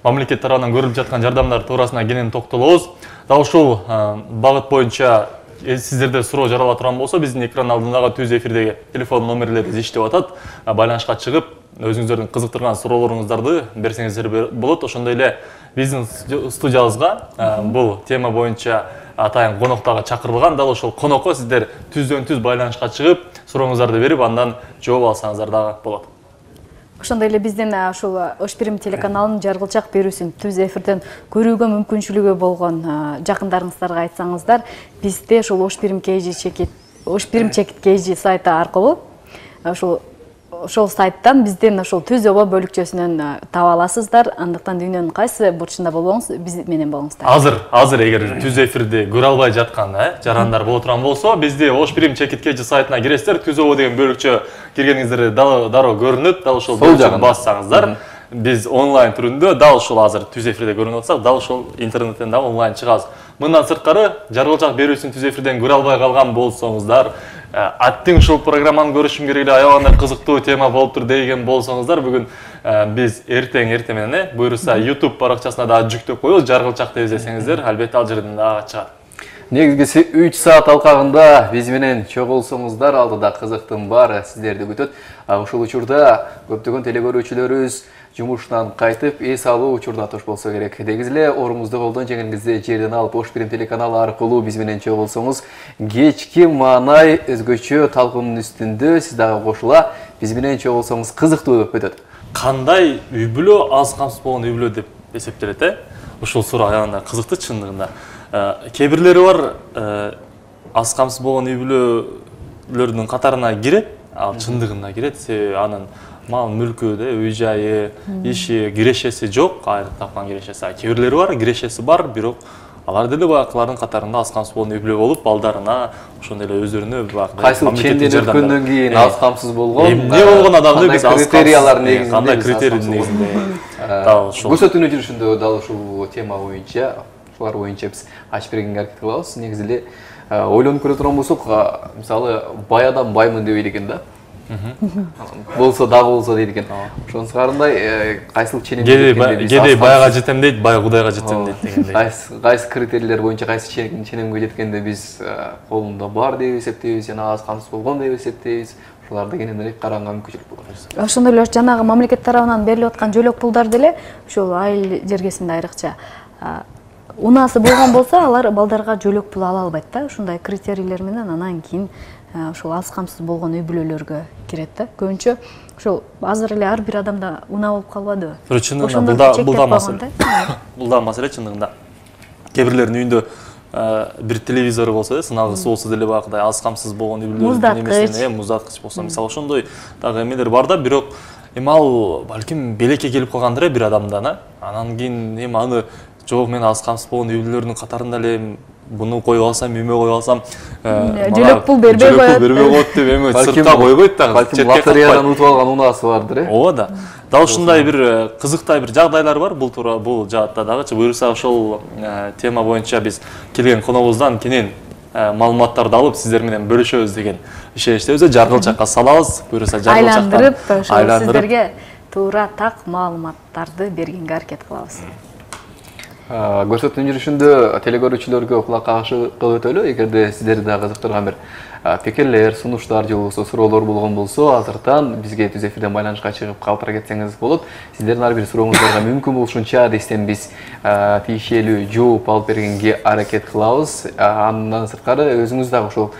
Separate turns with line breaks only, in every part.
мамлекет тарабынан көрүлүп жаткан жардамдар туурасына кенен токтолобуз. Дал ушул багыт боюнча сиздерде суроо жарала турган болсо, биздин экран алдындагы түз эфирдеги телефон номерлерибиз иштеп атат. Байланышка чыгып, өзүңүздөрдүн кызыктырган суроолоруңуздарды берсеңиздер болот. Ошондой эле биздин студиябызга бул тема боюнча атайын конок дагы чакырылган. Дал ошол конокко сиздер түздөн-түз байланышка чыгып, сурооңуздарды берип, андан жооп алсаңыздар дагы болот.
Ошондой эле биздин ушул Ош Бирим телеканалынын жаргылчак берүүсүн түз эфирден көрүүгө мүмкүнчүлүгү болгон жакындарыңыздарга айтсаңыздар, бизде ушул Ош Бирим чекит KG сайты аркылуу ошол сайттан биздин ошол түз оба бөлүкчөсүнөн таба аласыздар. Андыктан дүйнөнүн кайсы бурчунда болсоңуз биз менен болуңуздар.
Азыр эгер түз эфирди көрө албай жаткан жарандар боло турган болсо, бизде Ош Бирим чекит KG сайтына киресиздер. Түз оба деген бөлүкчө киргениңиздер дароо көрүнөт. Дал ошол бөлүкчөнү бассаңыздар, биз онлайн түрүндө дал ушул азыр түз эфирде көрүнүп атсак, дал ушул интернеттен дагы онлайн чыгабыз. Мындан сырткары жаргылчак берүүсүн түз эфирден көрө албай калган болсоңуздар, аттың ушул программаны көрүшүм керек эле, аябагандай кызыктуу тема болуптур деген болсоңуздар, бүгүн биз эртең менен буюрса YouTube баракчасына дагы жүктөп коебуз. Жаргылчак деп издесеңиздер, албетте ал жерден дагы чыгат.
Негизгиси 3 саат алкагында биз менен чогулсоңуздар, алдыда кызыктын баары сиздерди күтөт. Ушул учурда көптөгөн телекөрүүчүлөрүбүз жумуштан кайтып, эс алуу учурда туш болсо керек. Дегиз эле орумузду колдон жеңиңизди жерден алып, Ош Бирим телеканалы аркылуу биз менен чогулсоңуз, кечки маанай өзгөчө талкуунун үстүндө сиз дагы кошула биз менен чогулсоңуз кызыктуу болуп өтөт.
Кандай үй бүлө аз камсыз болгон үй бүлө деп эсептелет, Ушул суроо аябагандай кызыктуу чындыгында. Кээ бирлери бар аз камсыз болгон үй бүлөлөрдүн катарына кирет, ал чындыгында кирет, себеби анын мал мүлкү, үй жайы, иши, кирешеси жок, айрым тапкан кирешеси. Кээ бирлери бар, кирешеси бар, бирок алар деле баягылардын катарында аз камсыз болгон үй бүлө болуп, балдарына, ошондой эле өздөрүнө
кайсыл ченден өткөндөн кийин аз камсыз болгон,
эмне болгон адамды биз
критериялар негизинде,
кандай критерий негизинде
көрсөтүүнү жүрүшүндө дал ушул тема боюнча, ушулар боюнча биз ачып бергенге аракет кылабыз. Негизи эле ойлонуп көрө турган болсок, мисалы бай адам баймын деп экен да. Болсо дагы болсо дейт экен. Ошонун сыгарындай кайсыл ченемге
кээде байга жетем дейт, бай Кудайга жетем дейт дегендей.
Кайсы критерийлер боюнча кайсы ченемге жеткенде биз колунда бар деп эсептейбиз, жана аз камсыз болгон деп эсептейбиз. Ушуларды кененирээк караганга мүмкүнчүлүк болот.
Ошондой эле жанагы мамлекет тарабынан берилип аткан жөлөк пулдар деле ушул айыл жергесинде айрыкча унаасы болгон болсо, алар балдарга жөлөк пул ала албайт да. Ушундай критерийлер менен анан кийин ушул аз камсыз болгон үй бүлөлөргө кирет да. Көбүнчө ушул азыр эле ар бир адамда унаа болуп калбадыбы?
Чындыгында бул да маселе чындыгында. Кээ бирлердин үйүндө бир телевизору болсо, сыналгысы болсо деле баягыдай аз камсыз болгон үй бүлөлөрдүн немесине муздаткыч болсо, мисалы ошондой дагы эмелер бар да, бирок ал балким белекке келип калгандыр бир адамдан, анан кийин аны жок, мен аз камсыз болгон үй бүлөлөрдүн катарында эле буну коюп алсам, үймө коюп алсам,
жөлөк пул бербей
коет деп эми сыртка койбойт да.
Балким лотереядан утуп алган унаасы бардыр,
Ооба да. Дал ушундай бир кызыктай бир жагдайлар бар бул жаатта дагычы. Буюрса ошол тема боюнча биз келген коногубуздан кенен маалыматтарды алып сиздер менен бөлүшөбүз деген ишеничтебиз. Жаргылчакка салабыз, буюрса
айландырып сиздерге туура так маалыматтарды бергенге аракет кылабыз.
Көрсөтүүнүн жүрүшүндө телекөрүүчүлөргө кулак кагышы кылып өтөлү. Эгерде сиздерди дагы кызыктырган бир пикирлер, сунуштар же болбосо суроолор болгон болсо, азыртан бизге түз эфирден байланышка чыгып калтыра кетсеңиз болот. Сиздердин ар бир сурооңуздарга мүмкүн болушунча дестен биз тиешелүү жооп алып бергенге аракет кылабыз. Андан сырткары өзүңүз дагы ошол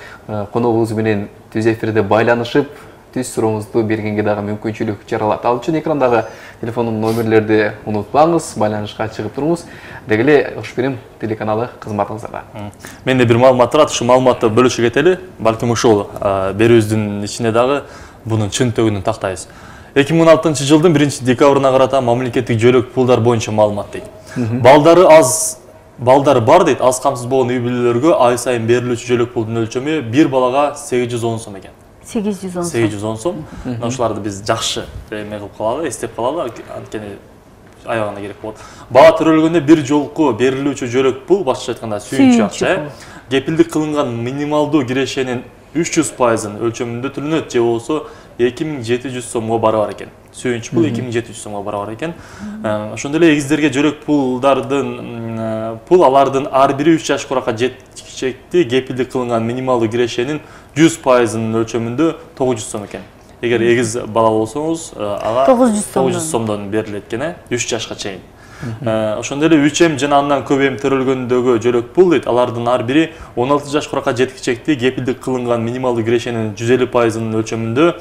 коногубуз менен түз эфирде байланышып, түз сурооңузду бергенге дагы мүмкүнчүлүк жаралат. Ал үчүн экрандагы телефондун номерлерди унутпаңыз, байланышка чыгып туруңуз. Деги эле Ош Бирим телеканалы кызматыңыздарда.
Менде бир маалымат турат, ушу маалыматты бөлүшүп кетели. Балким ушул берүүбүздүн ичинде дагы бунун чынтөгүнүн тактайбыз. 2016-жылдын 1-декабрына карата мамлекеттик жөлөк пулдар боюнча маалымат дейт. Балдары бар дейт, аз камсыз болгон үй бүлөлөргө ай сайын берилүүчү жөлөк пулдун өлчөмү 1 балага 810 сом экен. 810 сом. Ошоларды биз жакшы эме кылып калалы, эстеп калалы, анткени аябагында керек болот. Баа төрөлгөндө бир жолку берилүүчү жөлөк пул, башкача айтканда сүйүнчү акча, кепилдик кылынган минималдуу кирешенин 300%-ын өлчөмүндө төлөнөт же болсо 2700 сомго барабар экен. сүйүнч пул 2700 сомго барабар экен. Ошондой эле эгиздерге жөлөк пулдардын пул алардын ар бири 3 жаш куракка жеткичекти кепилдик кылынган минималдуу кирешенин 100%-ынын өлчөмүндө 900 сом экен. Эгер эгиз бала болсоңуз, ага 900 сомдон берилет экен, 3 жашка чейин. Ошондой эле 3М жана андан көп эм төрөлгөндөгү жөлөк пул дейт, алардын ар бири 16 жаш куракка жеткичекти кепилдик кылынган минималдуу кирешенин 150%-ынын өлчөмүндө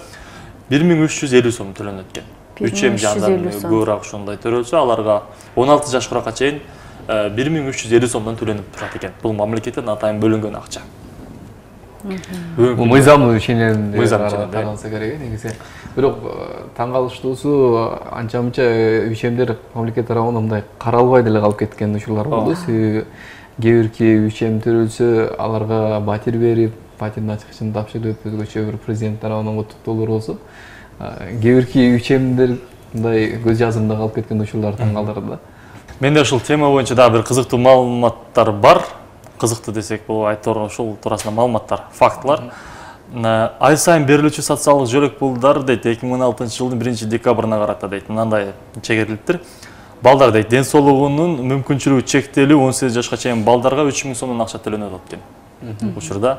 1350 сом төлөнөт экен. 3М жандан көбүрөөк ошондой төрөлсө, аларга 16 жаш куракка чейин 1350 сомдон төлөнүп турат экен. Бул мамлекеттен атайын бөлүнгөн акча.
Бул мыйзамдуу ченемде каралса керек негизи. Бирок таң калыштуусу анча-мынча 3Мдер мамлекет тарабынан мындай каралбай деле калып кеткен учурлар болду. Себеби кээ бирки 3М төрөлсө аларга батир берип, батирдин ачкычын тапшырып, өзгөчө бир президент тарабынан куттуктоолор болсо, кээ бирки 3Мдер мындай көз жазымда калып кеткен учурлар таң калтырды да.
Менде ушул тема боюнча дагы бир кызыктуу маалыматтар бар. Кызыктуу десек болот, айтор ушул туурасында маалыматтар, фактылар. Ай сайын берилүүчү социалдык жөлөк пулдар дейт 2016 жылдын 1-декабрына карата дейт. Мындай чегерилиптир. Балдар дейт, ден соолугунун мүмкүнчүлүгү чектелүү 18 жашка чейин балдарга 3000 сомдон акча төлөнөт экен. Учурда.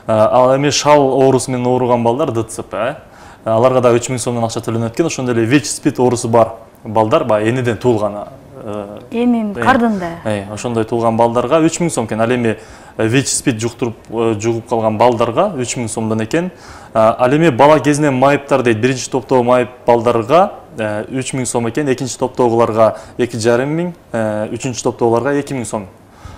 Ал эми шал оорусу менен ооруган балдар ДЦП, аларга да 3000 сомдон акча төлөнөт экен. Ошондой эле ВИЧ-СПИД оорусу бар балдар, баягы эниден туулган
энин кардында.
Ошондой туулган балдарга 3000 сом экен. Ал эми ВИЧ-СПИД жугуп калган балдарга 3000 сомдон экен. Ал эми бала кезинен майыптар дейт, биринчи топтогу майып балдарга 3000 сом экен, экинчи топтогуларга 2500, үчүнчү топтогуларга 2000 сом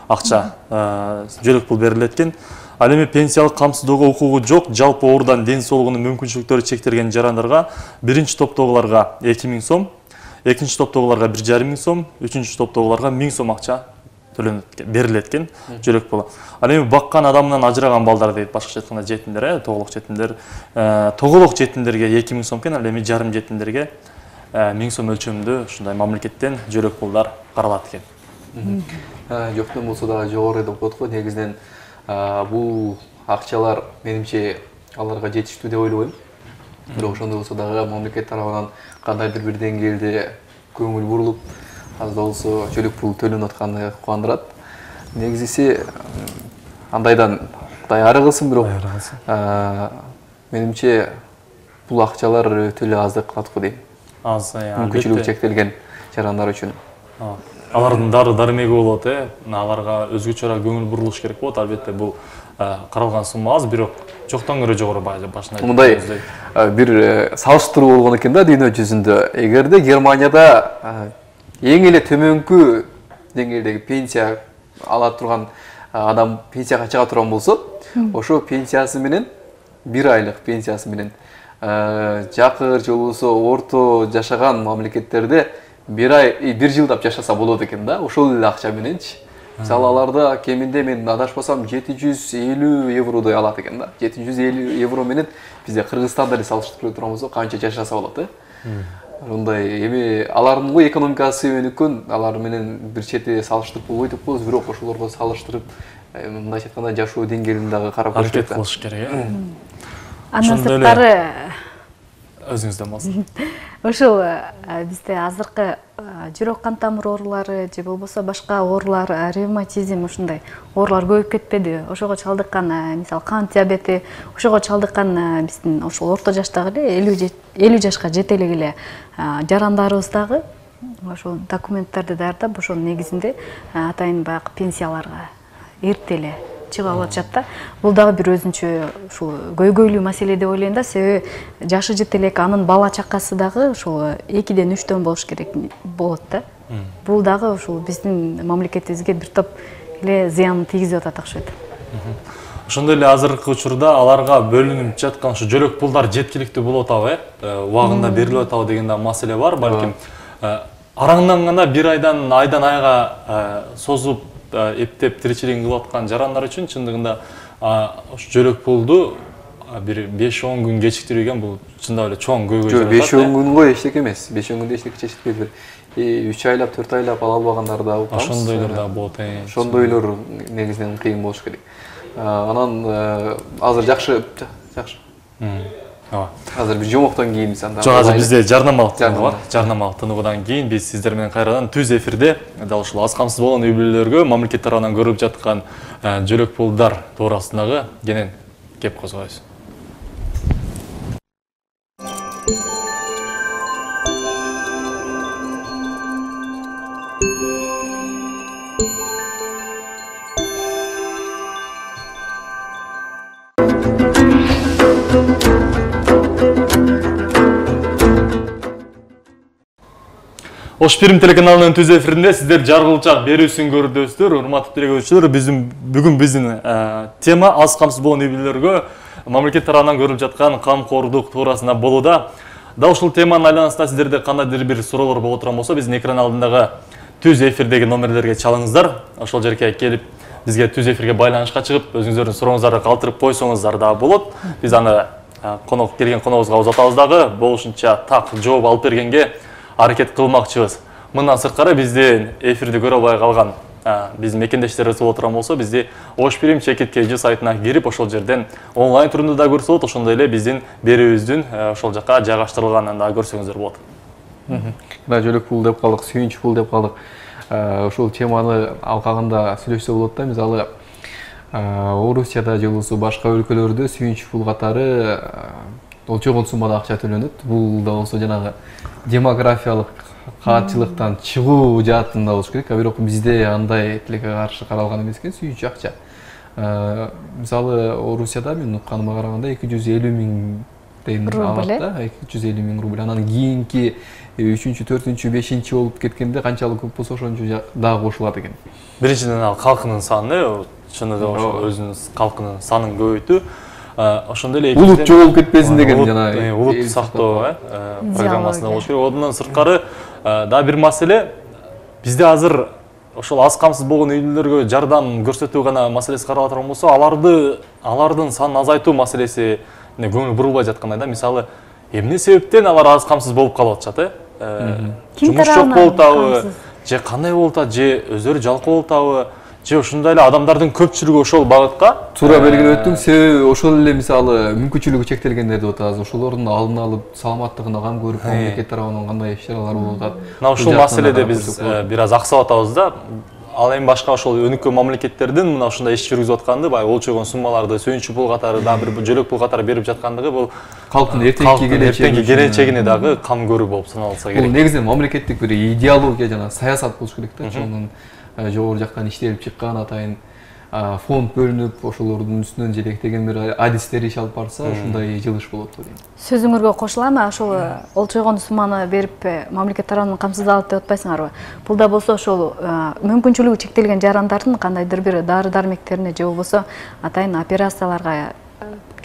акча жөлөк пул берилет экен. Ал эми пенсиялык камсыздоого укугу жок, жалпы оорудан ден соолугунун мүмкүнчүлүктөрү чектелген жарандарга биринчи топтогуларга 2000 сом, экинчи топтогуларга 1500 сом, үчүнчү топтогуларга 1000 сом акча берилет экен жөлөк пулу. Ал эми баккан адамынан ажыраган балдар дейт, башкача айтканда жетимдер, тоголок жетимдер. Тоголок жетимдерге 2000 сом экен, ал эми жарым жетимдерге 1000 сом өлчөмүндө ушундай мамлекеттен жөлөк пулдар каралат экен.
Жоктон болсо дагы жогору деп коет го. Негизинен бул акчалар менимче аларга жетиштүү деп ойлобойм. Бирок ошондой болсо дагы мамлекет тарабынан кандайдыр бир деңгээлде көңүл бурулуп, аз да болсо жөлөк пул төлөнүп атканы кубандырат. Негизиси андайдан Кудай ары кылсын, бирок менимче бул акчалар өтө эле аздык кылат го дейм.
Аз,
мүмкүнчүлүгү чектелген жарандар үчүн.
Алардын дармеги болот, аларга өзгөчө көңүл бурулуш керек болот. Албетте бул каралган сумма аз, бирок жоктон көрө жогору башында.
Мындай бир салыштыруу болгон экен да дүйнө жүзүндө. Эгерде Германияда эң эле төмөнкү деңгээлдеги пенсия ала турган адам пенсияга чыга турган болсо, ошо пенсиясы менен, 1 айлык пенсиясы менен жакыр же болбосо орто жашаган мамлекеттерде 1 жылдап жашаса болот экен да, ошол эле акча мененчи. Мисалы аларда кеминде мен адашпасам 750 евродой алат экен да. 750 евро менен бизде Кыргызстанда эле салыштырып турган болсо канча жашаса болот, Ушундай эми алардын экономикасы өнүккөн, алар менен бир чети салыштырып болбойт деп коебуз, бирок ошолорго салыштырып мындайча айтканда жашоо деңгээлин дагы карап
көрүш керек.
Андан сырткары
өзүңүздөн болсун.
Ошол бизде азыркы жүрөк кан тамыр оорулары же болбосо башка оорулар, ревматизм ушундай оорулар көбөйүп кетпеди. Ошого чалдыккан, мисалы кант диабети, ошого чалдыккан биздин ошол орто жаштагы эле 50 жашка жете эле жарандарыбыз дагы ошол документтерди даярдап, ошонун негизинде атайын баягы пенсияларга эрте эле чыгып алып атышат да. Бул дагы бир өзүнчө ушул көйгөйлүү маселе деп ойлойм да, себеби жашы жете элек, анын бала чакасы дагы ушул 2-ден 3-төн болуш керек болот да. Бул дагы ушул биздин мамлекетибизге бир топ эле зыянын тийгизип атат окшойт.
Ошондой эле азыркы учурда аларга бөлүнүп жаткан ушу жөлөк пулдар жеткиликтүү болуп атабы, убагында берилип атабы деген да маселе бар. Балким араңдан гана 1 айдан айга созуп эптеп тиричилигин кылып аткан жарандар үчүн чындыгында ош жөлөк пулду бир 5-10 күн кечиктирген бул чындап эле чоң көйгөй.
Жок, 5-10 күнгө эчтеке эмес. 5-10 күндө эчтеке чечилбейт. 3 айлап, 4 айлап ала албагандар да болот.
Ошондойлор да болот.
Ошондойлор негизинен кыйын болуш керек. Анан азыр жакшы. Азыр бир жомоктон кийин мисалы.
Жок, азыр бизде жарнамалык тынуу бар. Жарнамалык тынуудан кийин биз сиздер менен кайрадан түз эфирде дал ушул аз камсыз болгон үй бүлөлөргө мамлекет тарабынан көрүлүп жаткан жөлөк пулдар туурасындагы кенен кеп козгойбуз. Ош Пирим телеканалынын түз эфиринде сиздер жаргылчак берүүсүн көрүпсүздөр. Урматтуу телекөрүүчүлөр, бүгүн биздин тема аз камсыз болгон үй бүлөлөргө мамлекет тарабынан көрүлүп жаткан камкордук туурасында болууда. Дал ушул теманын айланасында сиздерде кандайдыр бир суроолор болуп турган болсо, биздин экран алдындагы түз эфирдеги номерлерге чалыңыздар. Ошол жерге келип бизге түз эфирге байланышка чыгып, өзүңүздөрдүн сурооңуздарды калтырып койсоңуздар да болот. Биз аны келген коногубузга узатабыз дагы, болушунча так жооп алып бергенге аракет кылмакчыбыз. Мындан сырткары биздин эфирди көрө албай калган биздин мекендештерибиз боло турган болсо, бизди Ош Пирим чекит.kg сайтына кирип, ошол жерден онлайн түрүндө да көрсө болот, ошондой эле биздин берүүбүздүн ошол жака жайгаштырылганын да көрсөңүздөр болот.
Жөлөк пул деп калдык, сүйүнч пул деп калдык. Ошол теманы алкагында сүйлөшсө болот да. Мисалы, Орусияда же болбосо башка өлкөлөрдө сүйүнч пул катары олчогон суммада акча төлөнөт. Бул да болсо жанагы демографиялык каатчылыктан чыгуу жаатында болуш керек. Бирок бизде андай тилекке каршы каралган эмес экен, сүйүнч акча. Мисалы, Орусияда мен укканыма караганда 250 миңден алат да, 250 миң рубль. Анан кийинки 3-чү, 4-чү, 5-чи болуп кеткенде канчалык көп болсо ошончо дагы кошулат экен.
Биринчиден ал калкынын саны, чыныгы ошо өзүнүн калкынын санын көбөйтүү. Ошондой эле
улут жоголуп кетпесин деген жана
улут сактоо программасында болуш керек. Одан сырткары да бир маселе, бизде азыр ошол аз камсыз болгон үй бүлөлөргө жардам көрсөтүү гана маселеси каралып турган болсо, алардын санын азайтуу маселеси көңүл бурулбай жаткандай да. Мисалы, эмне себептен алар аз камсыз болуп калып атышат, жумуш жок болуп атабы, же кандай болуп атат, же өздөрү жалкоо болуп атабы, же ушундай эле адамдардын көпчүлүгү ошол багытка
туура белгилеп өттүң. Себеби ошол эле мисалы мүмкүнчүлүгү чектелгендер деп атабыз. Ошолордун алдын алып, саламаттыгына кам көрүп, мамлекет тарабынан кандай иш-чаралар болуп атат.
Мына ушул маселеде биз бир аз аксап атабыз да. Ал эми башка ошол өнүккөн мамлекеттердин мына ушундай иш жүргүзүп атканды, баягы олчогон суммаларды сүйүнчү пул катары да бир жөлөк пул катары берип жаткандыгы бул
калктын эртеңки
келечегине дагы кам көрүү болуп саналса керек.
Бул негизинен мамлекеттик бир идеология жана саясат болуш керек да. Чоңун жогору жактан иштелип чыккан атайын фонд бөлүнүп, ошолордун үстүнөн желектеген бир адистер иш алып барса, ушундай жылыш болот деп ойлойм.
Сөзүңөргө кошулам, ошол олчогон сумманы берип мамлекет тарабынан камсыздалат деп атпайсыңарбы? Бул да болсо ошол мүмкүнчүлүгү чектелген жарандардын кандайдыр бир дары-дармектерине же болбосо атайын операцияларга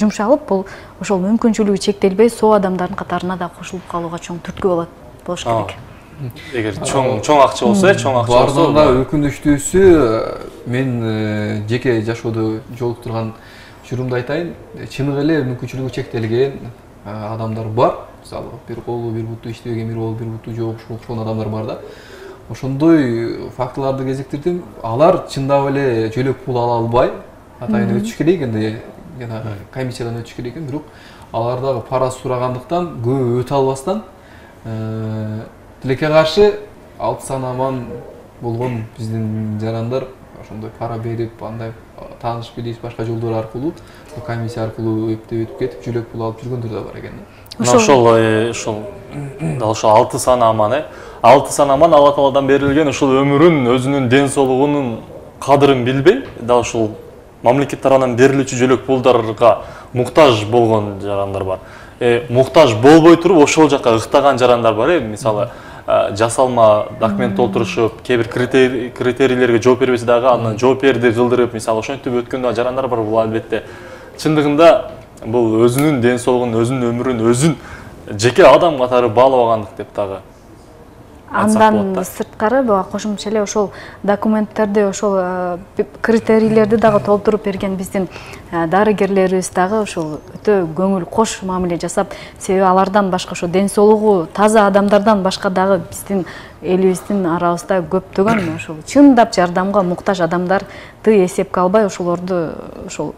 жумшалып, бул ошол мүмкүнчүлүгү чектелбей соо адамдардын катарына да кошулуп калууга чоң түрткү болуш керек.
Эгер чоң акча болсо,
бардыгында да өкүнүчтүүсү, мен жеке жашоодо жолуктурган учурумду айтайын, чыныгы эле мүмкүнчүлүгү чектелген адамдар бар. Мисалы, бир колу, бир буту иштебеген, бир колу, бир буту жок окшогон адамдар бар да. Ошондой фактыларды кезиктирдим. Алар чындап эле жөлөк пул ала албай, атайын өтүш керек экен, жана комиссиядан өтүш керек экен, бирок алар дагы пара сурагандыктан көп өтө албастан тилекке каршы 6 сан аман болгон биздин жарандар ошондой пара берип, андай тааныш билиш башка жолдор аркылуу, комиссия аркылуу өтүп кетип, жөлөк пул алып жүргөндөр да бар экен.
Ошол 6 сан аман, 6 сан аман Алла Тааладан берилген ушул өмүрүн, өзүнүн ден соолугунун кадырын билбей, дал ушул мамлекет тарабынан берилүүчү жөлөк пулдарга муктаж болгон жарандар бар. Муктаж болбой туруп ошол жака ыктаган жарандар бар. Мисалы, жасалма документ толтурушуп, кээ бир критерийлерге жооп бербесе дагы андан жооп берди кылдырып, мисалы ошентип өткөн да жарандар бар. Бул албетте чындыгында бул өзүнүн ден соолугун, өзүнүн өмүрүн, өзүн жеке адам катары баалабагандык деп дагы.
Андан сырткары кошумча эле ошол документтерди, ошол критерийлерди дагы толтуруп берген биздин дарыгерлерибиз дагы ошол өтө көңүл кош мамиле жасап, себеби алардан башка ошо ден соолугу таза адамдардан башка дагы биздин элибиздин арабызда көптөгөн ошол чындап жардамга муктаж адамдарды эсепке албай ошолорду ошол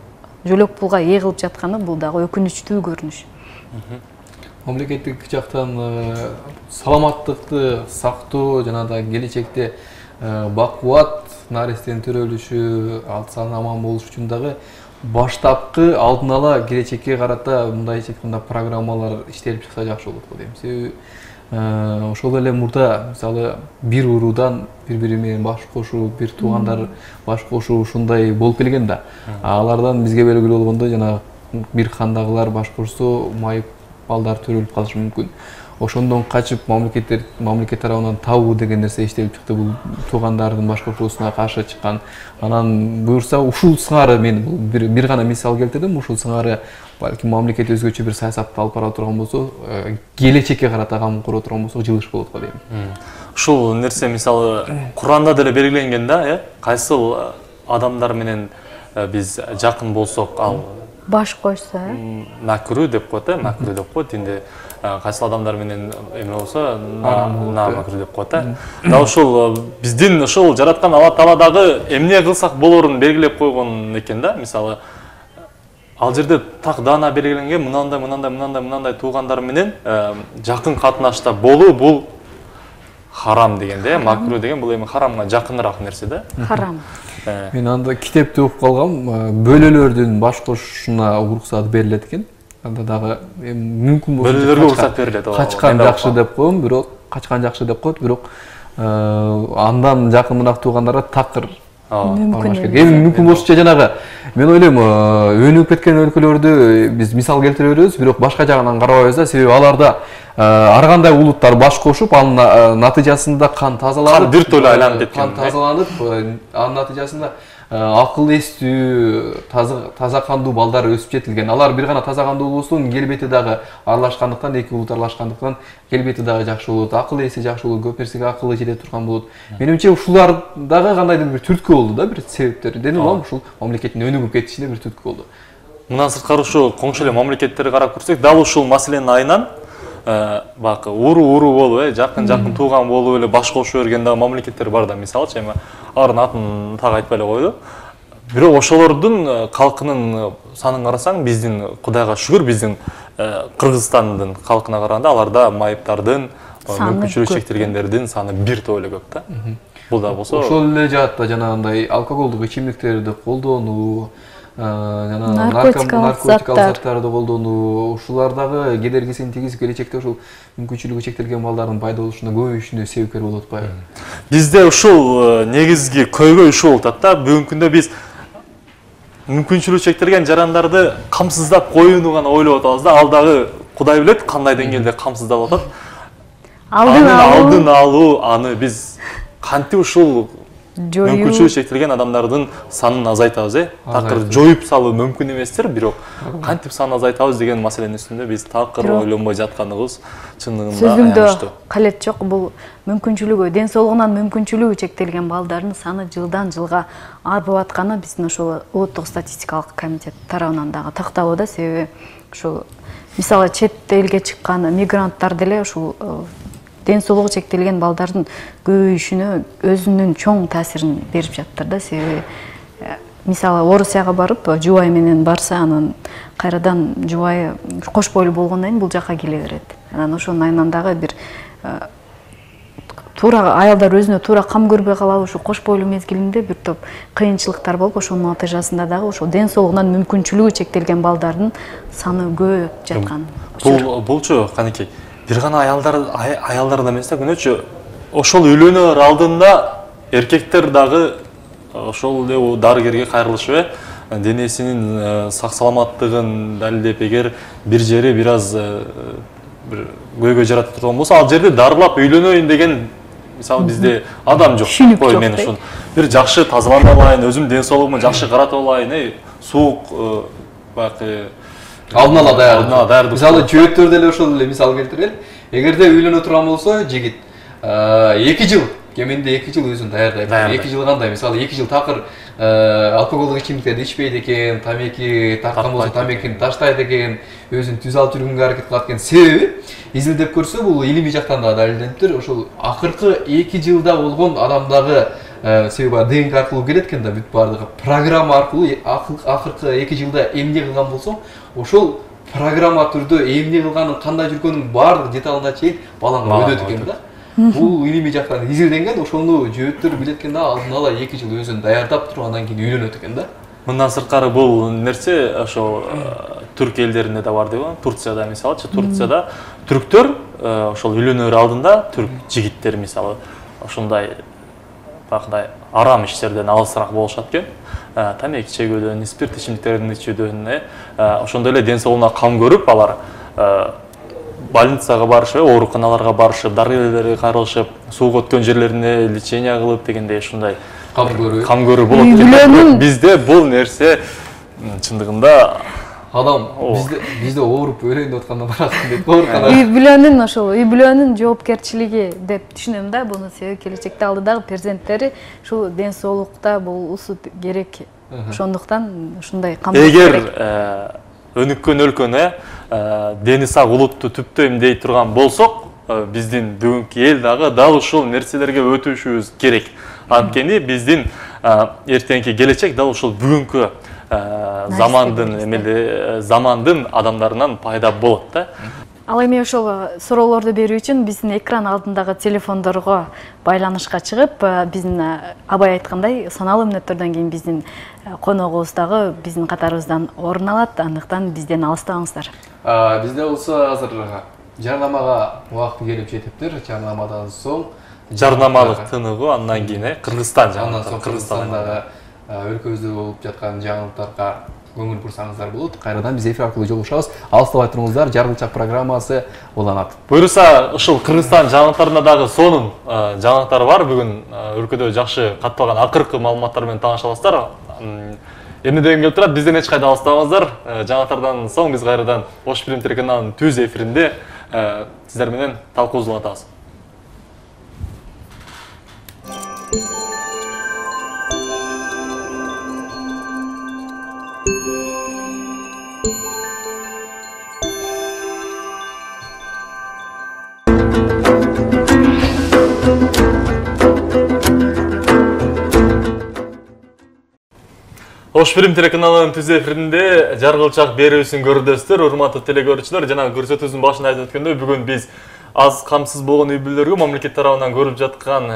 жөлөк пулга ээ кылып жатканы бул дагы өкүнүчтүү көрүнүш.
Мамлекеттик жактан саламаттыкты сактоо жана да келечекте бакубат нарестенин төрөлүшү, алты саны аман болуш үчүн дагы баштапкы алдын ала келечекке карата мындайча айтканда программалар иштелип чыкса жакшы болот го дейм. Себеби ошол эле мурда мисалы бир уруудан бири менен баш кошуу, бир туугандар баш кошуу ушундай болуп келген да. Алардан бизге белгилүү болгондо жана бир кандагылар баш кошсо майып балдар төрөлүп калышы мүмкүн. Ошондон качып мамлекет тарабынан табуу деген нерсе иштелип чыкты. Бул туугандардын баш кошуусуна каршы чыккан. Анан буюрса ушул сыңары мен бир гана мисал келтирдим. Ушул сыңары балким мамлекет өзгөчө бир саясатты алып бара турган болсо, келечекке карата кам кура турган болсо жылыш болот го дейм.
Ушул нерсе мисалы Куранда деле белгиленген да, кайсыл адамдар менен биз жакын болсок, ал
баш койсо,
макру деп коет, макру деп коет. Инде кайсыл адамдар менен эме болсо, макру деп коет. Да ушул биздин ушул жараткан Алла Таала дагы эмне кылсак болорун белгилеп койгон экен да. Мисалы ал жерде так даана белгиленген мынандай туугандар менен жакын катнашта болуу бул харам дегенде, макру деген бул эми харамга жакыныраак нерсе да.
Харам.
Мен анда китепти окуп калгам, бөлөлөрдүн баш кошушуна уруксат берилет экен. Анда дагы мүмкүн болсо
бөлөлөргө уруксат берилет.
Качкан жакшы деп коем, бирок качкан жакшы деп коет, бирок андан жакыныраак туугандарга такыр мүмкүн болушунча жанагы мен ойлойм өнүгүп кеткен өлкөлөрдү биз мисал келтире беребиз, бирок башка жагынан карабайбыз да. Себеби аларда ар кандай улуттар баш кошуп, анын натыйжасында кан тазаланып,
бир тойло айланып кеткен.
Кан тазаланып, анын натыйжасында акыл эстүү, таза кандуу балдар өсүп жетилген. Алар бир гана таза кандуу болсун, келбети дагы аралашкандыктан, эки улут аралашкандыктан келбети дагы жакшы болот, акыл эси жакшы болот, көп нерсеге акылы жете турган болот. Менимче ушулар дагы кандайдыр бир түрткү болду да, бир себептер. Денем алам, ушул мамлекеттин өнүгүп кетишине бир түрткү болду.
Мындан сырткары ушу коңшу эле мамлекеттерди карап көрсөк, дал ушул маселенин айынан бакы уруу болуп, жакын тууган болуп эле баш кошо берген дагы мамлекеттер бар да. Мисалчы эми алардын атын так айтпай эле койду. Бирок ошолордун калкынын санын карасаң, биздин Кудайга шүгүр, биздин Кыргызстандын калкына караганда аларда майыптардын, мүмкүнчүлүгү чектелгендердин саны бир топ эле көп да. Бул да болсо
ошол эле жаатта жанагындай алкоголдук ичимдиктерди колдонуу, жана
наркотикалык
заттарды колдонуу, ушулар дагы кедергисин тийгизип келечекте ушул мүмкүнчүлүгү чектелген балдардын пайда болушуна көбөйүшүнө себепкер болуп атпайбы?
Бизде ушул негизги көйгөй ушул болуп атат да. Бүгүнкү күндө биз мүмкүнчүлүгү чектелген жарандарды камсыздап коюуну гана ойлоп атабыз да. Ал дагы Кудай билет кандай деңгээлде камсыздалып атат. Алдын алуу, аны биз кантип ушул мүмкүнчүлүгү чектелген адамдардын санын азайтабыз, такыр жоюп салуу мүмкүн эместир, бирок кантип санын азайтабыз деген маселенин үстүндө биз такыр ойлонбой жатканыбыз чындыгында аянычтуу.
Сөзүңдө калет жок, бул мүмкүнчүлүгү, ден соолугунан мүмкүнчүлүгү чектелген балдардын саны жылдан жылга арбып атканы биздин ошол улуттук статистикалык комитет тарабынан дагы такталуу да. Себеби ушул мисалы чет элге чыккан мигранттар деле ушул ден соолугу чектелген балдардын көбөйүшүнө өзүнүн чоң таасирин берип жатыр да. Себеби мисалы Орусияга барып жубай менен барса, анан кайрадан жубайы кош бойлуу болгондон кийин бул жакка келе берет. Анан ошонун айынан дагы бир туура аялдар өзүнө туура кам көрбөй калабы, ушу кош бойлуу мезгилинде бир топ кыйынчылыктар болуп, ошонун натыйжасында дагы ошол ден соолугунан мүмкүнчүлүгү чектелген балдардын саны көбөйүп жаткан.
Булчу канекей бир гана аялдарда эмес да, күнөөчү ошол үйлөнөр алдында эркектер дагы ошол эле дарыгерге кайрылышып, денесинин сак саламаттыгын далилдеп, эгер бир жери бир аз бир көйгөй жарата турган болсо, ал жерде дарылап үйлөнөйүн деген мисалы бизде адам жок. Кой мен ушун бир жакшы тазаланып алайын, өзүм ден соолугума жакшы каратып алайын, суук бакы
алдын ала даярдык. Мисалы жөөттөр деле ошол эле мисал келтирели. Эгерде үйлөнө турган болсо, жигит 2 жыл, кеминде 2 жыл өзүн даярдайт. 2 жыл кандай? Мисалы 2 жыл такыр алкоголдук ичимдиктерди ичпейт экен, тамеки тарткан болсо тамекини таштайт экен, өзүн түз алып жүргөнгө аракет кылат экен. Себеби изилдеп көрсө, бул илимий жактан да далилдениптир. Ошол акыркы 2 жылда болгон адамдагы себеби ДНК аркылуу келет экен да, бүт бардыгы программа аркылуу акыркы 2 жылда эмне кылган болсо, ошол программа түрдө эмне кылганын, кандай жүргөнүн баардык деталына чейин балага өйдөт экен да. Бул илимий жактан изилденген, ошону жөөттөр билет экен да, алдын ала 2 жыл өзүн даярдап туруп андан кийин үйлөнөт экен да.
Мындан сырткары бул нерсе ошол түрк элдеринде да бар дейби. Турцияда мисалычы, Турцияда түрктөр ошол үйлөнөр алдында түрк жигиттери мисалы ошондой бакдай арам иштерден алысыраак болушат экен. Тамеки чегүүдөн, спирт ичимдиктерин ичүүдөн, ошондой эле ден соолугуна кам көрүп алар больницага барышып, ооруканаларга барышып, дарыгерлерге каралышып, сууга өткөн жерлерине лечение кылып дегендей ушундай кам көрүү болот. Бизде бул нерсе чындыгында
адам бизде ооруп өлөйүн деп атканда барасың деп оорукана.
Үй бүлөнүн ошол үй бүлөнүн жоопкерчилиги деп түшүнөм да. Буну себеби келечекте алдыдагы перзенттери ушул ден соолукта болуусу керек. Ошондуктан ушундай камсыз керек.
Эгер өнүккөн өлкөнө дени сак улутту түптөй эмдей турган болсок, биздин бүгүнкү эл дагы дал ушул нерселерге өтүшүбүз керек. Анткени биздин эртеңки келечек дал ушул бүгүнкү замандын адамдарынан пайда болот да.
Ал эми ошол суроолорду берүү үчүн биздин экран алдындагы телефондорго байланышка чыгып, биздин абай айткандай саналуу мүнөттөрдөн кийин биздин коногубуз дагы биздин катарыбыздан орун алат. Андыктан бизден алыстабаңыздар.
Бизде болсо азыр жарнамага убакыты келип жетиптир. Жарнамадан соң
жарнамалык тыныгуу, андан кийин Кыргызстан
Кыргызстандагы өлкөбүздө болуп жаткан жаңылыктарга көңүл бурсаңыздар болот. Кайрадан биз эфир аркылуу жолугушабыз. Алыстабай туруңуздар, Жаргылчак программасы уланат.
Буюрса, ушул Кыргызстан жаңылыктарында дагы сонун жаңылыктар бар. Бүгүн өлкөдө жакшы катталган акыркы маалыматтар менен тааныша аласыздар. Эмне деген келип турат, бизден эч кайда алыстабаңыздар. Жаңылыктардан соң биз кайрадан Ош Пирим телеканалынын түз эфиринде сиздер менен талкуубузду улантабыз. Ош Пирим телеканалынын түз эфиринде Жаргылчак берүүсүн көрүдөсүздөр, урматтуу телекөрүүчүлөр. Жана көрсөтүүбүздүн башында айтып өткөндөй, бүгүн биз аз камсыз болгон үй бүлөлөргө мамлекет тарабынан көрүлүп жаткан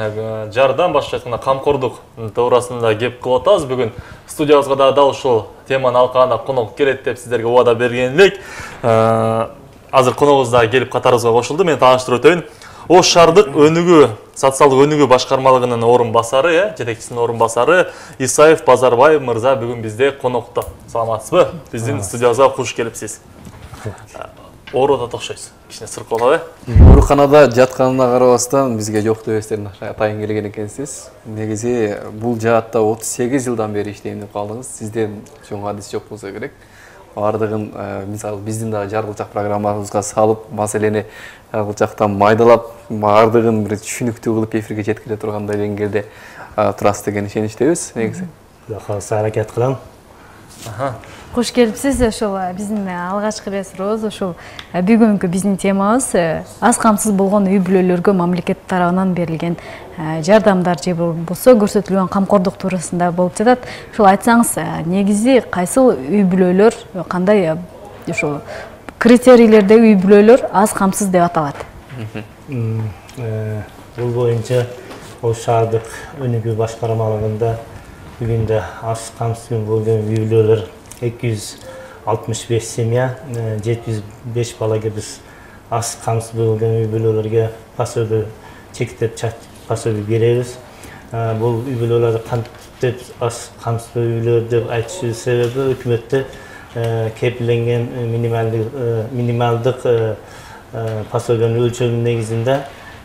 жардам, башкача айтканда камкордук туурасында кеп кылып атабыз. Бүгүн студиябызга дал ушул теманын алкагына конок келет деп сиздерге убада берген элек. Азыр коногубуз да келип катарыбызга кошулду. Мен тааныштырып өтөйүн. Ош шаардык өнүгүү, социалдык өнүгүү башкармалыгынын орун басары, жетекчисинин орун басары Исаев Базарбай мырза бүгүн бизде конокто. Саламатсызбы? Биздин студиябызга куш келипсиз. Ооруп атат окшойсуз. Кичине сыркоолабы?
Ооруканада жатканына карабастан бизге жок дебестерин атайын келген экенсиз. Негизи бул жаатта 38 жылдан бери иштейм деп калдыңыз. Сизден чоң адис жок болсо керек. Бардыгын мисалы биздин дагы Жаргылчак программабызга салып, маселени Жаргылчактан майдалап, бардыгын бир түшүнүктүү кылып эфирге жеткире тургандай деңгээлде турасыз деген ишеничтебиз. Негизи
калса аракет кылам.
Куш келипсиз. Ошол биздин алгачкы эле сурообуз ошол бүгүнкү биздин темабыз аз камсыз болгон үй бүлөлөргө мамлекет тарабынан берилген жардамдар же болбосо көрсөтүлгөн камкордук туурасында болуп жатат. Ошол айтсаңыз, негизи кайсыл үй бүлөлөр, кандай ошол критерийлердеги үй бүлөлөр аз камсыз деп аталат?
Бул боюнча Ош шаардык өнүгүү башкармалыгында бүгүндө аз камсыз болгон үй бүлөлөр 265 семья, 705 балага биз аз камсыз болгон үй бүлөлөргө пособие чектеп пособие беребиз. Бул үй бүлөлөр кантип аз камсыз үй бүлөлөр деп айтышыбыздын себеби өкмөттө кепилденген минималдык пособиянын өлчөмүнүн негизинде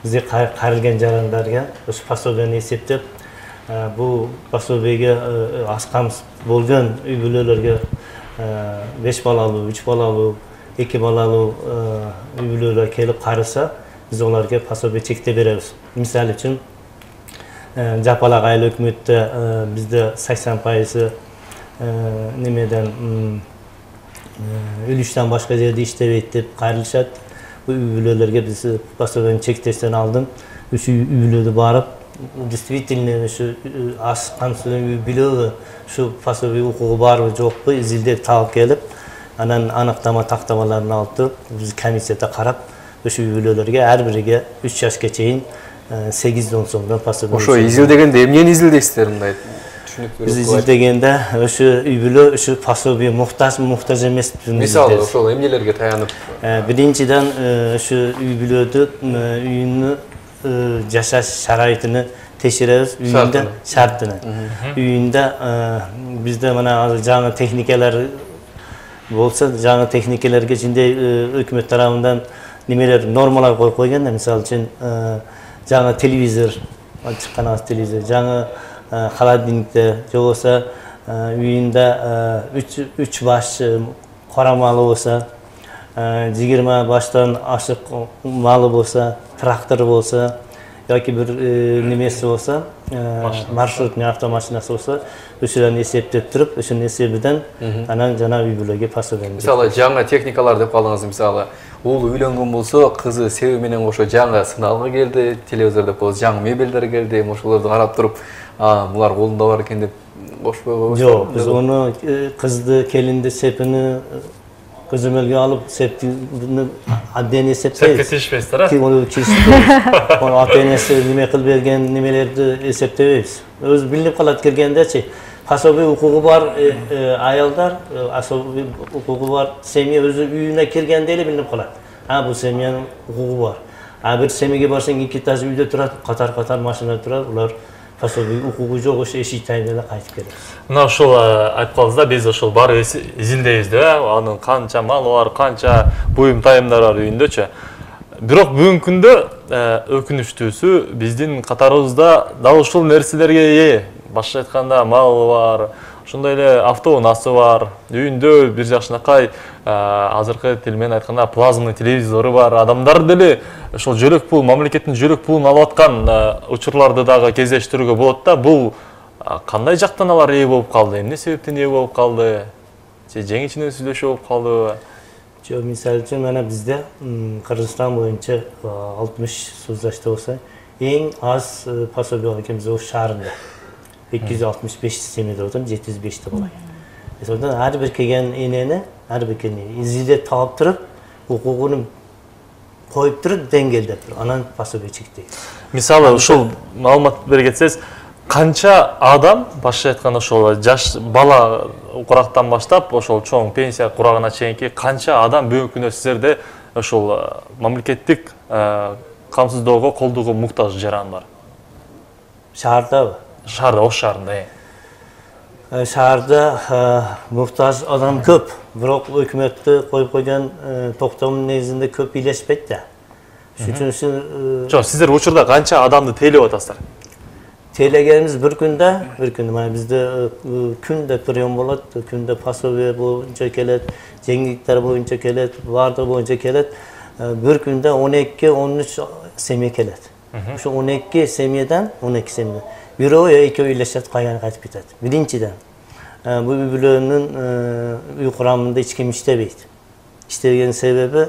бизге каралган жарандарга ошо пособияны эсептеп, бул пособиеге аз камсыз болгон үй бүлөлөргө 5 балалуу, 3 балалуу, 2 балалуу үй бүлөлөр келип караса, биз оларга пособие чектеп беребиз. Мисалы үчүн, жапалак айыл өкмөттө бизде 80% немеден үлүштөн башка жерде иштебейт деп кайрылышат. Бул үй бүлөлөргө биз пособияны чектештен алдын ушу үй бүлөдө барып, действительно ушу аз камсыз үй бүлөгө ушу пособие укугу барбы жокпу изилдеп таап келип, анан аныктама тактамаларын алып туруп биз комиссияда карап ошо үй бүлөлөргө ар бириге 3 жашка чейин 8-10 сомдон пособие.
Ошо изилдегенде эмнени изилдейсиздер мындай түшүнүктүү?
Биз изилдегенде ошо үй бүлө ошо пособие муктаж эмес.
Мисалы ошол эмнелерге таянып?
Биринчиден ошо үй бүлөдү үйүнүн жашаш шарайтын текшеребиз, үйүндө шартын. Үйүндө бизде мына жаңы техникалар болсо, жаңы техникаларга ичинде өкмөт тарабынан немелер нормалар коюп койгон да, мисалы үчүн жаңы телевизор, чыккан телевизор, жаңы холодильниктер, же болбосо үйүндө 3 баш кара малы болсо, 20 баштан ашык малы болсо, трактор болсо, yoki bir nemesi olsa, marşrutный avtomashинасы olsa, o'shalarni eseptep turib, o'shaning esebidan anan жана үй бүлөгө пособие.
Мисалы, жаңа техникалар деп калдыңыз, мисалы, уулу үйлөнгөн болсо, кызы себеби менен ошо жаңа сыналга келди, телевизор деп коебуз, жаңа мебелдер келди, ошолорду карап туруп, булар колунда бар экен деп кошпойбу?
Жок, биз ону кызды, келинди сепини көзөмөлгө алып, септини абден эсептейбиз.
Сепке тийишпейсиздер,
Onu ата-энеси неме кылып берген немелерди эсептебейбиз. Өзү билинип калат келгендечи. Пособие укугу бар аялдар, пособие укугу бар семья өзү үйүнө киргенде эле билинип калат. Бул семьянын укугу бар. Бир семьяге барсаң 2 этаж үйдө турат, катар-катар машина турат, улар пособие укугу жок, ошо эшик тайында эле кайтып келет.
Мына ошол айтып калдыңыз да, биз ошол барып изилдейбиз да, анын канча малы бар, канча буюм тайымдар бар үйүндөчү. Бирок бүгүнкү күндө өкүнүчтүүсү биздин катарыбызда дал ушул нерселерге ээ. Башка айтканда малы бар, ошондой эле автоунаасы бар, үйүндө бир жакшынакай азыркы тил менен айтканда плазмный телевизору бар. Адамдар деле ошол жөлөк пул, мамлекеттин жөлөк пулун алып аткан учурларды дагы кездештирүүгө болот да. Бул кандай жактан алар ээ болуп калды? Эмне себептен ээ болуп калды? Же жеңичинен сүйлөшүү болуп калдыбы?
Жок, мисалы үчүн мына бизде Кыргызстан боюнча 60 соцзащита болсо, эң аз пособие бар экен биз ош шаарында. 265 семьяда отурат, 705 болот. Ошондон ар бир келген энени, ар бир келген изилдеп таап туруп, укугун коюп туруп, деңгээлдеп туруп, анан пособие чектейбиз.
Мисалы, ушул маалымат бере кетсеңиз, канча адам, башка айтканда ошол жаш бала курактан баштап, ошол чоң пенсия курагына чейинки канча адам бүгүнкү күндө сиздерде ошол мамлекеттик камсыздоого, колдоого муктаж жаран бар?
Шаардабы?
Шаарда, ош шаарында.
Шаарда муктаж адам көп, бирок өкмөттү коюп койгон токтомдун негизинде көп бийлешпейт да. Ошон
Жок, сиздер учурда канча адамды тейлеп атасыздар?
Тейлегенimiz bir күндө, мына бизде күндө прием болот, күндө пособие боюнча келет, жеңилдиктер боюнча келет, баардыгы боюнча келет. Bir күндө 12-13 семья келет. Ошо 12 семьядан, 12 семья. Бирөө экөө үйлешет, кайганы кайтып кетет. Биринчиден, бул үй бүлөнүн үй курамында эч ким иштебейт. İştegen sebebi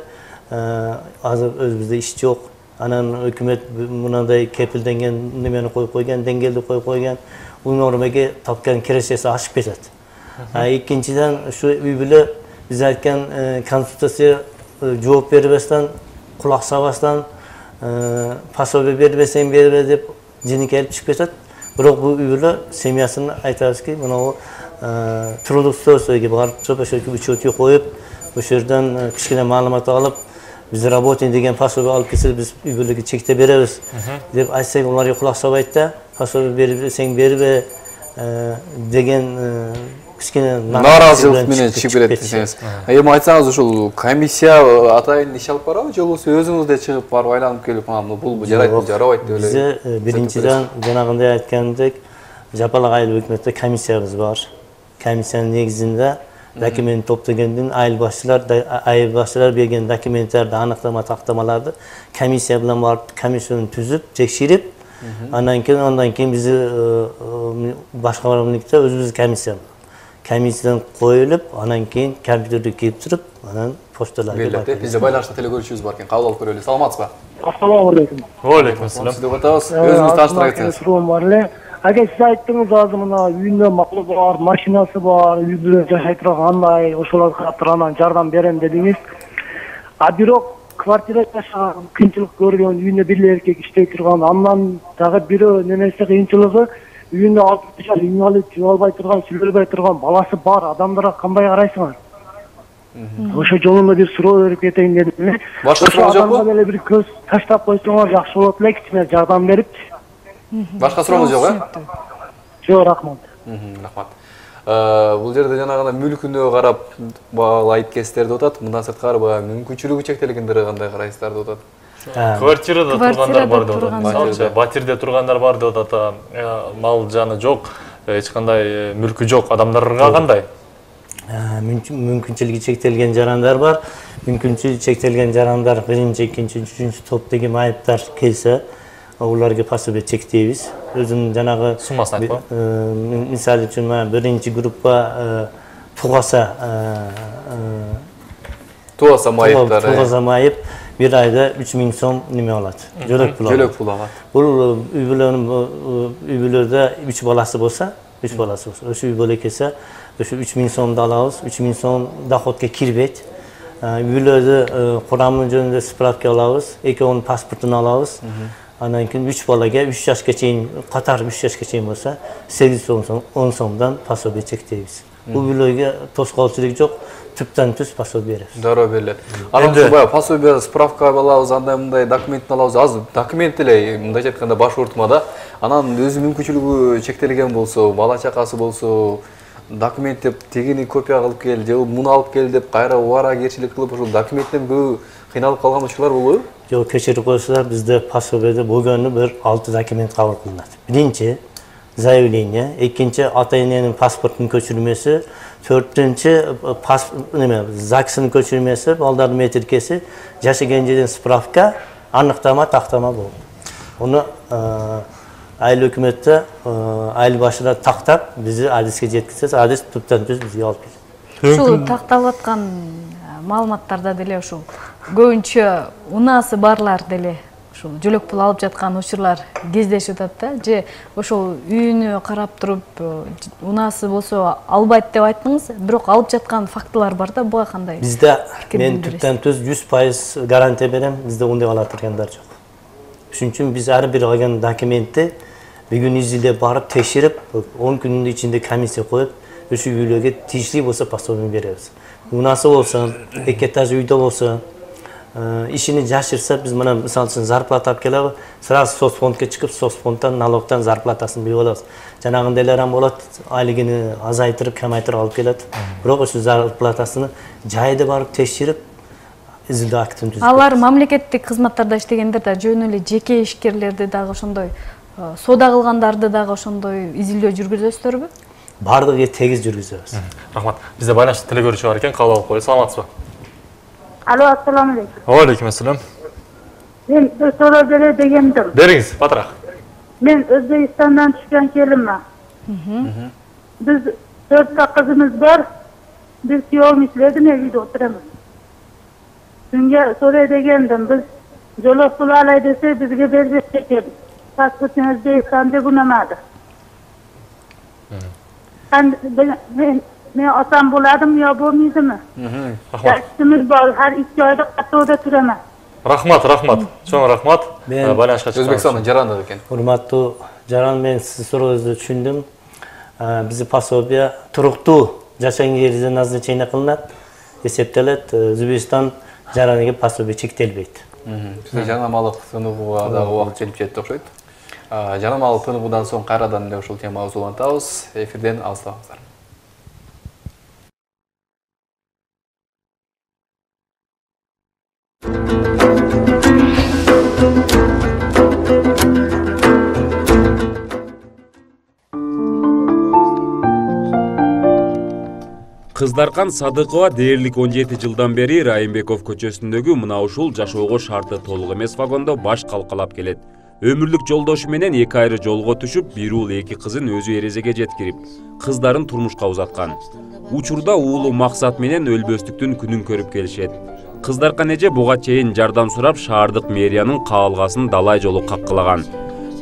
azır özümüzde iş yok. Anan hükümet mınday kepildengen nemeni koyup koygan, dengeli koyup koygan. Bu normaga tapkan kiresesi aşıp ketет. İkinciden şu üybüle biz aytkan konsultasiya жооп бербестен, kulak sabastan, пособие бербесең бербе деп жини келип чыгып кетет. Бирок бул üybüle семьясына айтабыз ки, мына трудоустройствого барып чыгып, ошо учетке коюп, ошол жерден кичине маалымат алып, biz работаем деген пособие алып келсе, biz üybülege чекте беребиз деп айтсак, улар кулак сабайт да, пособие бербесең бербе деген кичине
нааразылык менен чыгып берет десеңиз. Эми айтсаңыз, ушул комиссия атайын иш алып барабы, же болбосо өзүңүз да чыгып барып айланып келип, бул жарайт, жарабайт деп эле.
Бизде биринчиден жанагындай айткандек, жапалак айыл өкмөттө комиссиябыз бар. Комиссиянын негизинде документ топтогондон айыл башчылар берген документтерди, аныктама тактамаларды комиссия менен барып, комиссияны түзүп, текшерип, андан кийин биз башка мамлекетте өзүбүз комиссия. Комиссиядан коюлуп, андан кийин компьютерге кирип туруп, анан почталарга
барып. Бизде байланышта телегөрүүчүбүз бар экен, кабыл алып көрөлү. Саламатсызбы?
Ассаламу алейкум.
Ва алейкум ассалам.
Сизди котабыз. Өзүңүздү тааныштыра кетсеңиз.
Суроо бар эле. Agar siz aytdingiz hozir mana uyinda maqli bor, mashinasi bor, uyda жашай турган андай, ошолорго карап туруп анан жардам берем дедиңиz. А бирок квартирада жашаган, кыйынчылык көргөн, үйүндө бир эркек иштей турган, андан дагы бирөө немеси кыйынчылыгы үйүндө 60 жаш инвалид, жөө албай турган, сүйлөбөй турган баласы бар адамдарга кандай карайсыңар? Ошо жолунда бир суроо берип кетейин дедим.
Башка суроо жокпу?
Эле бир көз таштап койсоңор жакшы болот эле, кичине жардам берип.
Башка сурооңуз жок,
Жок, рахмат.
Рахмат. Бул жерде жанагы мүлкүнө карап айып кестерди деп атат. Мындан сырткары баягы мүмкүнчүлүгү чектелгендерге кандай карайсыздар деп атат.
Квартирада тургандар бар деп атат. Батирде тургандар бар деп атат. Мал жаны жок, эч кандай мүлкү жок адамдарга кандай?
Мүмкүнчүлүгү чектелген жарандар бар. Мүмкүнчүлүгү чектелген жарандар биринчи, экинчи, үчүнчү топ деген айыптар келсе, уларга пособие чектейбиз. Өзүнүн жанагы
суммасын айтпа.
Мисалы үчүн биринчи группа тугаса майып бир айда 3000 сом неме алат. Жөлөк пул
алат.
Бул үй бүлөлөрдө 3 баласы болсо, ошо үй бүлө келсе, ошо 3000 сомду алабыз. 3000 сом доходко кирбейт. Үй бүлөдө курамы жөнүндө справка алабыз, экөөнүн паспортун алабыз. Андан кийин 3 балага 3 жашка чейин, катар 3 жашка чейин болсо, 810 сомдон пособие чектейбиз. Бул бүлөгө тоскоолчулук жок, түптөн-түз пособие беребиз.
Дароо берилет. Анан баягы пособие, справка алабыз, андай мындай документин алабыз. Азыр документ эле мындайча айтканда баш ортмада, анан өзү мүмкүнчүлүгү чектелген болсо, бала чакасы болсо, документ деп тегини копия кылып кел, же муну алып кел деп кайра убаракерчилик кылып, ошол документтен көп кыйналып калган учурлар болобу?
Жок, кечирип коесуздар, бизде пособиеде болгону бир 6 документ кабыл кылынат. Биринчи заявление, экинчи ата-эненин паспортунун көчүрмөсү, төртүнчү ЗАГСынын көчүрмөсү, балдардын метрикеси, жашаган жерден справка, аныктама, тактама болот. Уну айыл өкмөттө айыл башына тактап, бизди адиске жеткизсек, адис түптөн-түз бизге алып келет.
Ушул такталып аткан маалыматтарда деле ушул көбүнчө унасы барлар деле ушул жөлөк пул алып жаткан учурлар кездешип атат да, же ошол үйүнө карап туруп унасы болсо албайт деп айттыңыз, бирок алып жаткан фактылар бар да, буга кандай?
Бизде мен түптөн-түз 100% гарантия берем, бизде ондай ала тургандар жок. Ошон үчүн биз ар бир алган документти бүгүн изилдеп барып текшерип, 10 күнүн ичинде комиссия коюп, ошол үйлөргө тийиштүү болсо пособие беребиз. Унасы болсо, эки этаж үйдө болсо, ишини жашырса, биз мына мисалы үчүн зарплата алып келебиз, сразу соцфондко чыгып, соцфондтан, налогтон зарплатасын берип алабыз. Жанагындай эле болот, айлыгын азайтырып, камайтырып алып келет. Бирок ошол зарплатасын жайда барып текшерип, изилдөө актын түзүп.
Алар мамлекеттик кызматтарда иштегендер да жөн эле жеке ишкерлерди дагы ошондой, соода кылгандарды дагы ошондой изилдөө жүргүзөсүздөрбү?
Бардыгы тегиз жүргүзөбүз.
Рахмат. Бизде байланышта телекөрүүчү бар экен, кабыл алып коелу. Саламатсызбы?
Алло, ассаламу алейкум.
Алейкум ассалам.
Мен суроо бере дегендим.
Бериңиз, батыраак.
Мен Өзбекстандан түшкөн келиммин. Биз 4 кызыбыз бар. Биз күйөөм иштедим, үйдө отурамыз. Сизге суроо дегендим, биз жолок пул алай десе бизге бербеш экен. Паспортун Өзбекстанда күнөмады. Men atam buladım ya bo'lmaydimi? Rahmat. Bor, har 2 oyda qatnovda turaman.
Rahmat. Cho'ng rahmat. Байланышка чыктым.
Өзбекстандын жараны экен.
Урматтуу жаран, мен сиздин сурооңузду түшүндүм. Биздин пособие туруктуу жашаган жерде назначение кылынат, эсептелет. Өзбекстан жараныга пособие чектелбейт.
Бизде жанамалык тыныгууга дагы убакыт келип жетти окшойт. Жанамалык тыныгуудан соң кайрадан эле ушул темага улантабыз. Эфирден алыстабыңыздар.
Кыздаркан Садыкова дээрлик 17 жылдан бери Райымбеков көчөсүндөгү мына ушул жашоого шарты толук эмес вагондо баш калкалап келет. Өмүрлүк жолдошу менен 2 айры жолго түшүп, бир уул 2 кызын өзү эрезеге жеткирип, кыздарын турмушка узаткан. Учурда уулу Максат менен өлбөстүктүн күнүн көрүп келишет. Кыздаркан эже буга чейин жардам сурап, шаардык мэриянын каалгасын далай жолу каккылаган.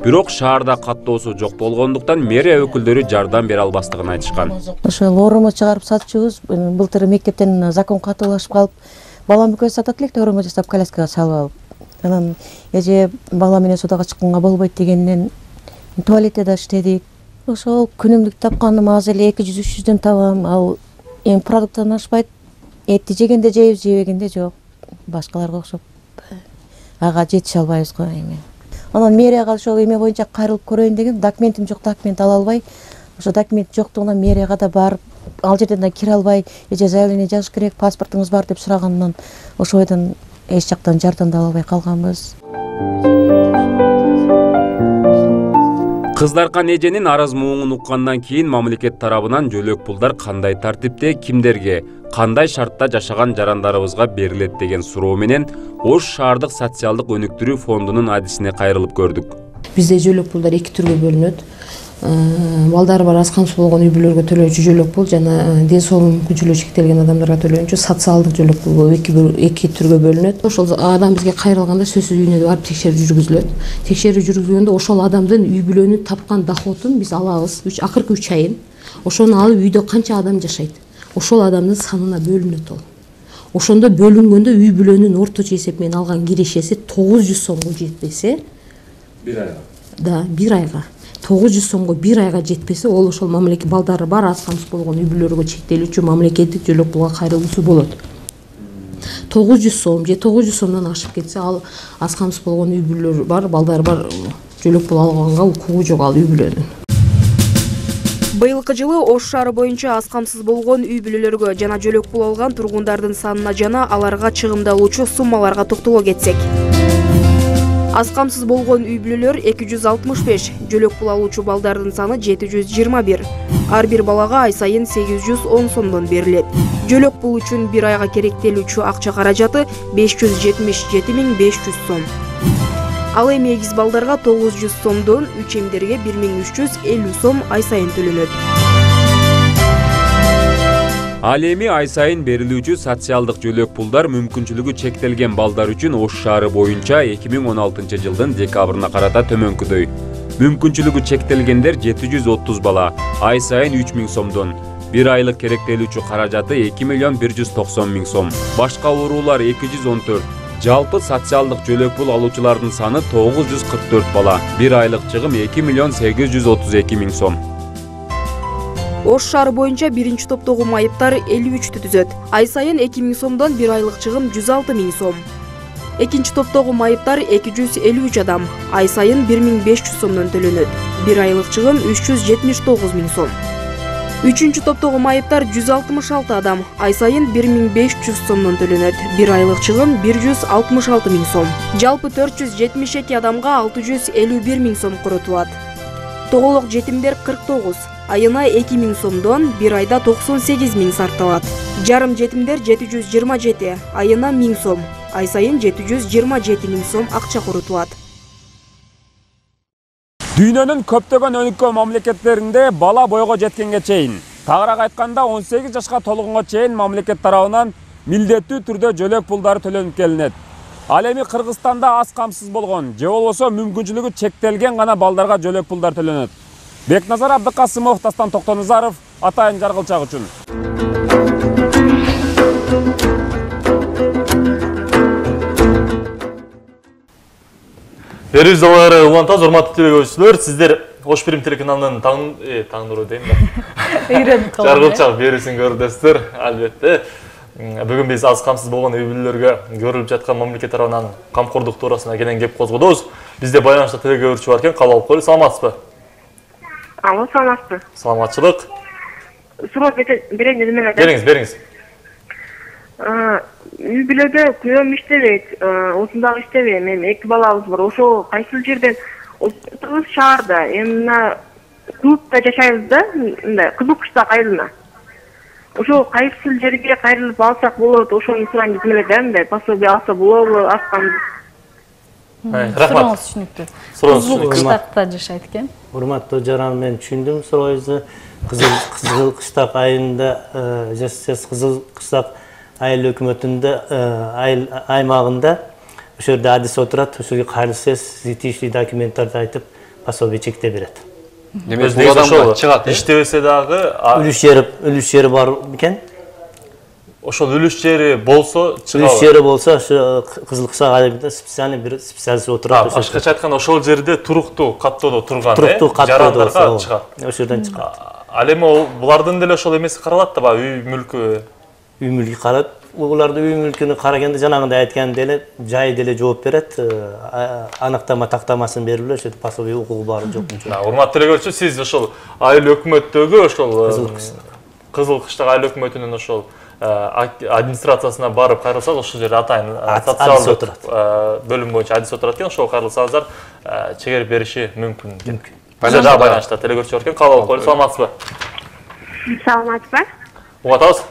Бирок шаарда каттоосу жок болгондуктан мэрия өкүлдөрү жардам бере албастыгын айтышкан.
Ошо лоорумо чыгарып сатчубуз. Былтыр мектептен закон катуулашып калып, балам экөөбүз сатат элек лоорумо жасап коляскага салып алып. Анан эже бала менен содага чыкканга болбойт дегенден туалетте да иштедик. Ошол күнүмдүк тапканым азыр эле 200-300дөн табам. Ал эми продукттан ашпайт. Этти жегенде жейбиз, жебегенде жок. Башкаларга окшоп ага жетише албайбыз го эми. Анан мэрияга ошол эме боюнча кайрылып көрөйүн деген, документим жок, документ ала албай, ошо документ жоктугунан мэрияга да барып, ал жерден да кире албай, эже заявление жазыш керек, паспортуңуз бар деп сураганынан ошо бойдон эч жактан жардам да ала албай калганбыз.
Кыздаркан эженин арыз муңун уккандан кийин мамлекет тарабынан жөлөк пулдар кандай тартипте, кимдерге, кандай шартта жашаган жарандарыбызга берилет деген суроо менен Ош шаардык социалдык өнүктүрүү фондунун адисине кайрылып көрдүк.
Бизде жөлөк пулдар эки түргө бөлүнөт. Балдары бар аз камсыз болгон үй бүлөлөргө төлөөчү жөлөк пул жана ден соолугу мүмкүнчүлүгү чектелген адамдарга төлөөчү социалдык жөлөк пул эки түргө бөлүнөт. Ошол адам бизге кайрылганда сөзсүз үйүнө барып текшерүү жүргүзүлөт. Текшерүү жүргүзгөндө ошол адамдын үй бүлөнүн тапкан доходун биз алабыз. Акыркы 3 айын. Ошону алып үйдө канча адам жашайт? Ошол адамдын санына бөлүнөт ол. Ошондо бөлүнгөндө үй бүлөнүн орточо эсеп менен алган кирешеси 900 сомго жетпесе, бир айга. Да, бир айга. 900 сомго бир айга жетпесе, ол ошол мамлекет балдары бар аз камсыз болгон үй бүлөлөргө чектелүүчү мамлекеттик жөлөк пулга кайрылуусу болот. 900 сом же 900 сомдон ашып кетсе, ал аз камсыз болгон үй бүлөлөр бар, балдары бар жөлөк пул алганга укугу жок ал үй бүлөнүн.
Быйылкы жылы Ош шаары боюнча аз камсыз болгон үй бүлөлөргө жана жөлөк пул алган тургундардын санына жана аларга чыгымдалуучу суммаларга токтоло кетсек. Аз камсыз болгон үй бүлөлөр 265, жөлөк пул алуучу балдардын саны 721. Ар бир балага ай сайын 810 сомдон берилет. Жөлөк пул үчүн бир айга керектелүүчү акча каражаты 577.500 сом. Ал эми эгиз балдарга 900 сомдон, үч эмдерге 1350 сом ай сайын төлөнөт.
Ал эми ай сайын берилүүчү социалдык жөлөк пулдар мүмкүнчүлүгү чектелген балдар үчүн Ош шаары боюнча 2016 жылдын декабрына карата төмөнкүдөй. Мүмкүнчүлүгү чектелгендер 730 бала, ай сайын 3000 сомдон. Бир айлык керектелүүчү каражаты 2.190.000 сом. Башка оорулар 214. Жалпы социалдык жөлөк пул алуучулардын саны 944 бала. Бир айлык чыгым 2.832.000 сом.
Ош шаары боюнча биринчи топтогу майыптар 53 түзөт. Ай сайын 2000 сомдон бир айлык чыгым 106.000 сом. Экинчи топтогу майыптар 253 адам. Ай сайын 1500 сомдон төлөнөт. Бир айлык чыгым 379.000 сом. Үчүнчү топтогу майыптар 166 адам. Ай сайын 1500 сомдон төлөнөт. Бир айлык чыгым 166.000 сом. Жалпы 472 адамга 651.000 сом коротулат. Тоголок жетимдер 49. Айына 2000 сомдон, бир айда 98.000 сарталат. Жарым жетимдер 727, айына 1000 сом. Ай сайын 727.000 сом акча коротулат.
Дүйнөнүн көптөгөн өнүккөн мамлекеттеринде бала бойго жеткенге чейин, тагыраак айтканда 18 жашка толгонго чейин мамлекет тарабынан милдеттүү түрдө жөлөк пулдары төлөнүп келинет. Ал эми Кыргызстанда аз камсыз болгон, же болбосо мүмкүнчүлүгү чектелген гана балдарга жөлөк пулдар төлөнөт. Бекназар Абдыкасымов, Дастан Токтоназаров, Атайын Жаргылчак үчүн.
Берүүзалары улантабыз, урматтуу телекөрүүчүлөр, сиздер Ош Пирим телеканалынын таңдыруу дейм да. Жаргылчак берүүсүн көрдүсүздөр, албетте. Бүгүн биз аз камсыз болгон үй бүлөлөргө көрүлүп жаткан мамлекет тарабынан камкордук туурасында кенен кеп козгодобуз. Бизде байланышта телекөрүүчү бар экен, кабыл алып коелу. Саламатсызбы?
Алло, саламатсызбы?
Саламатчылык.
Суроо берейин дедим эле.
Бериңиз.
Үй бүлөдө күйөөм иштебейт, осундагы иштебейм. Эми эки балабыз бар. Ошо кайсыл жерден отурубуз шаарда, эми мына клубда жашайбыз да, мындай кызыл кыштак айылына. Ошо кайсыл жерге кайрылып алсак болот, ошону сурайын дедим эле да, мындай пособие алса болобу, аскан.
Сурооңуз түшүнүктүү. Кызыл кыштакта жашайт экен.
Урматтуу жаран, мен түшүндүм сурооңузду. Кызыл кыштак айылында жашайсыз. Кызыл кыштак айыл өкмөтүндө аймагында ошо жерде адис отурат, ошого кайрылсаңыз, тиешелүү документтарды айтып, пособие чектеп берет.
Демек бул адамга чыгат.
Иштебесе дагы
Үлүш жери бар экен.
ошол үлүш жери болсо чыга.
Үлүш жери болсо ошо Кызыл Кышак айылында специальный бир специалист отурат.
Башкача айтканда ошол жерде туруктуу каттоодо турган,
туруктуу каттоодо
чыгат.
Ошол жерден чыгат.
Ал эми булардын деле ошол эмеси каралат да, үй мүлкү.
Үй мүлкү каралат. Буларды үй мүлкүнү караганда жанагындай айткан деле жай деле жооп берет. Аныктама тактамасын берип эле ошо пособие укугу бар жок.
Урматтуу телекөрүүчү, сиз ошол айыл өкмөттөгү ошол Кызыл Кыштак айыл өкмөтүнүн ошол администрациясына барып кайрылсаңыз, ошол жерде атайын социалдык бөлүм боюнча адис отурат экен, ошого кайрылсаңыздар чегерип бериши мүмкүн экен. Бизде дагы байланышта телекөрүүчү бар экен, кабыл алып коелу. Саламатсызбы?
Саламатсызбы?
Угат атабыз?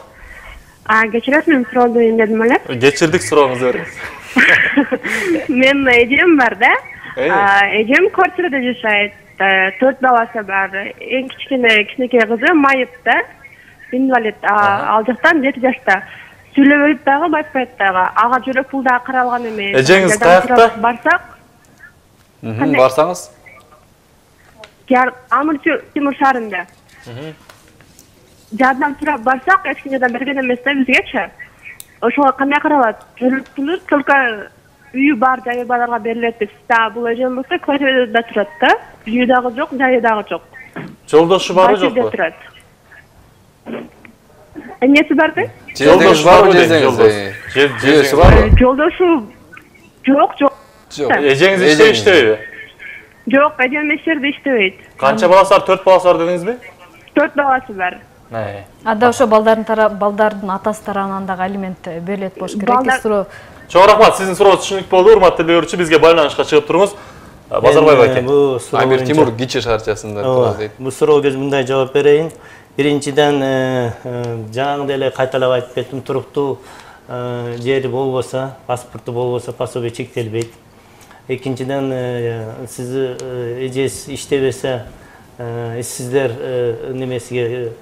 Кечиресиз, мен суроо берейин дедим эле.
Кечирдик, сурооңузду бериңиз.
Мен эжем бар да. Эжем квартирада жашайт. 4 баласы бар. Эң кичинекей кызы майыпта. Инвалид. Ал жактан 7 жашта. Сүйлөбөйт дагы, байпайт дагы. Ага жүрөк пул дагы каралган эмес.
Эжеңиз каякта?
Барсак?
Барсаңыз?
Амыр Темир шаарында. Жардам сурап барсак, эч ким жардам берген эмес да бизгечи. Ошого кандай каралат? Жүрөк пулу только үйү бар жайы барларга берилет деп. Бул эжем болсо квартирада турат да. Үйү дагы жок, жайы дагы жок.
Жолдошу барбы жокпу?
Эмнеси барбы?
Жолдошу барбы десеңиз? Жеси барбы?
Жолдошу жок.
Эжеңиз иштейбиби?
Жок, эжем эч жерде иштебейт.
Канча баласы бар? 4 баласы бар дедиңизби?
4 баласы бар.
Анда ошо балдардын атасы тарабынан дагы алимент берилет болуш керек.
Чоң рахмат, сиздин сурооңуз түшүнүктүү болду. Урматтуу телекөрүүчү, бизге байланышка чыгып туруңуз. Базарбаев экен.
Амир Тимур Кичи шаарчасында турат дейт.
Бул суроого мындай жооп берейин. Биринчиден жаңагындай эле кайталап айтып кеттим, туруктуу жери болбосо, паспорту болбосо пособие чектелбейт. Экинчиден сиз эжеңиз иштебесе, сиздер немесиге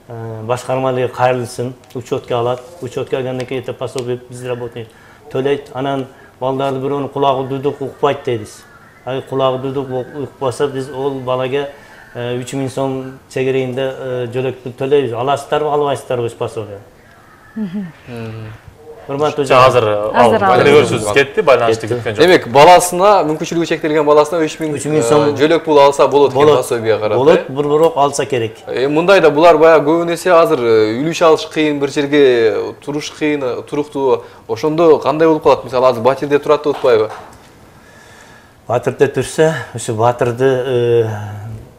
башкармалыгы кайрылсын, учетке алат. Учетке алгандан кийин пособие безработный төлөйт. Анан балдарды бирөөнүн кулагы дудук укпайт дейбиз. Кулагы дудук укпаса биз ол балага 3000 сом чегерейинде жөлөктү төлөйбүз. Аласыздарбы, албайсыздарбы пособие?
Азыр телекөрүүчүбүз кетти, байланышты кеткен жок.
Демек, баласына, мүмкүнчүлүгү чектелген баласына 3000 сом жөлөк пул алса болот экен пособие карап.
Болот, бирок алса керек.
Мындайда булар баягы көбүн эсе азыр үлүш алыш кыйын, бир жерге туруш кыйын, туруктуу. Ошондо кандай болуп калат? Мисалы, азыр Батирде турат деп атпайбы?
Батирде турса, ошо Батирде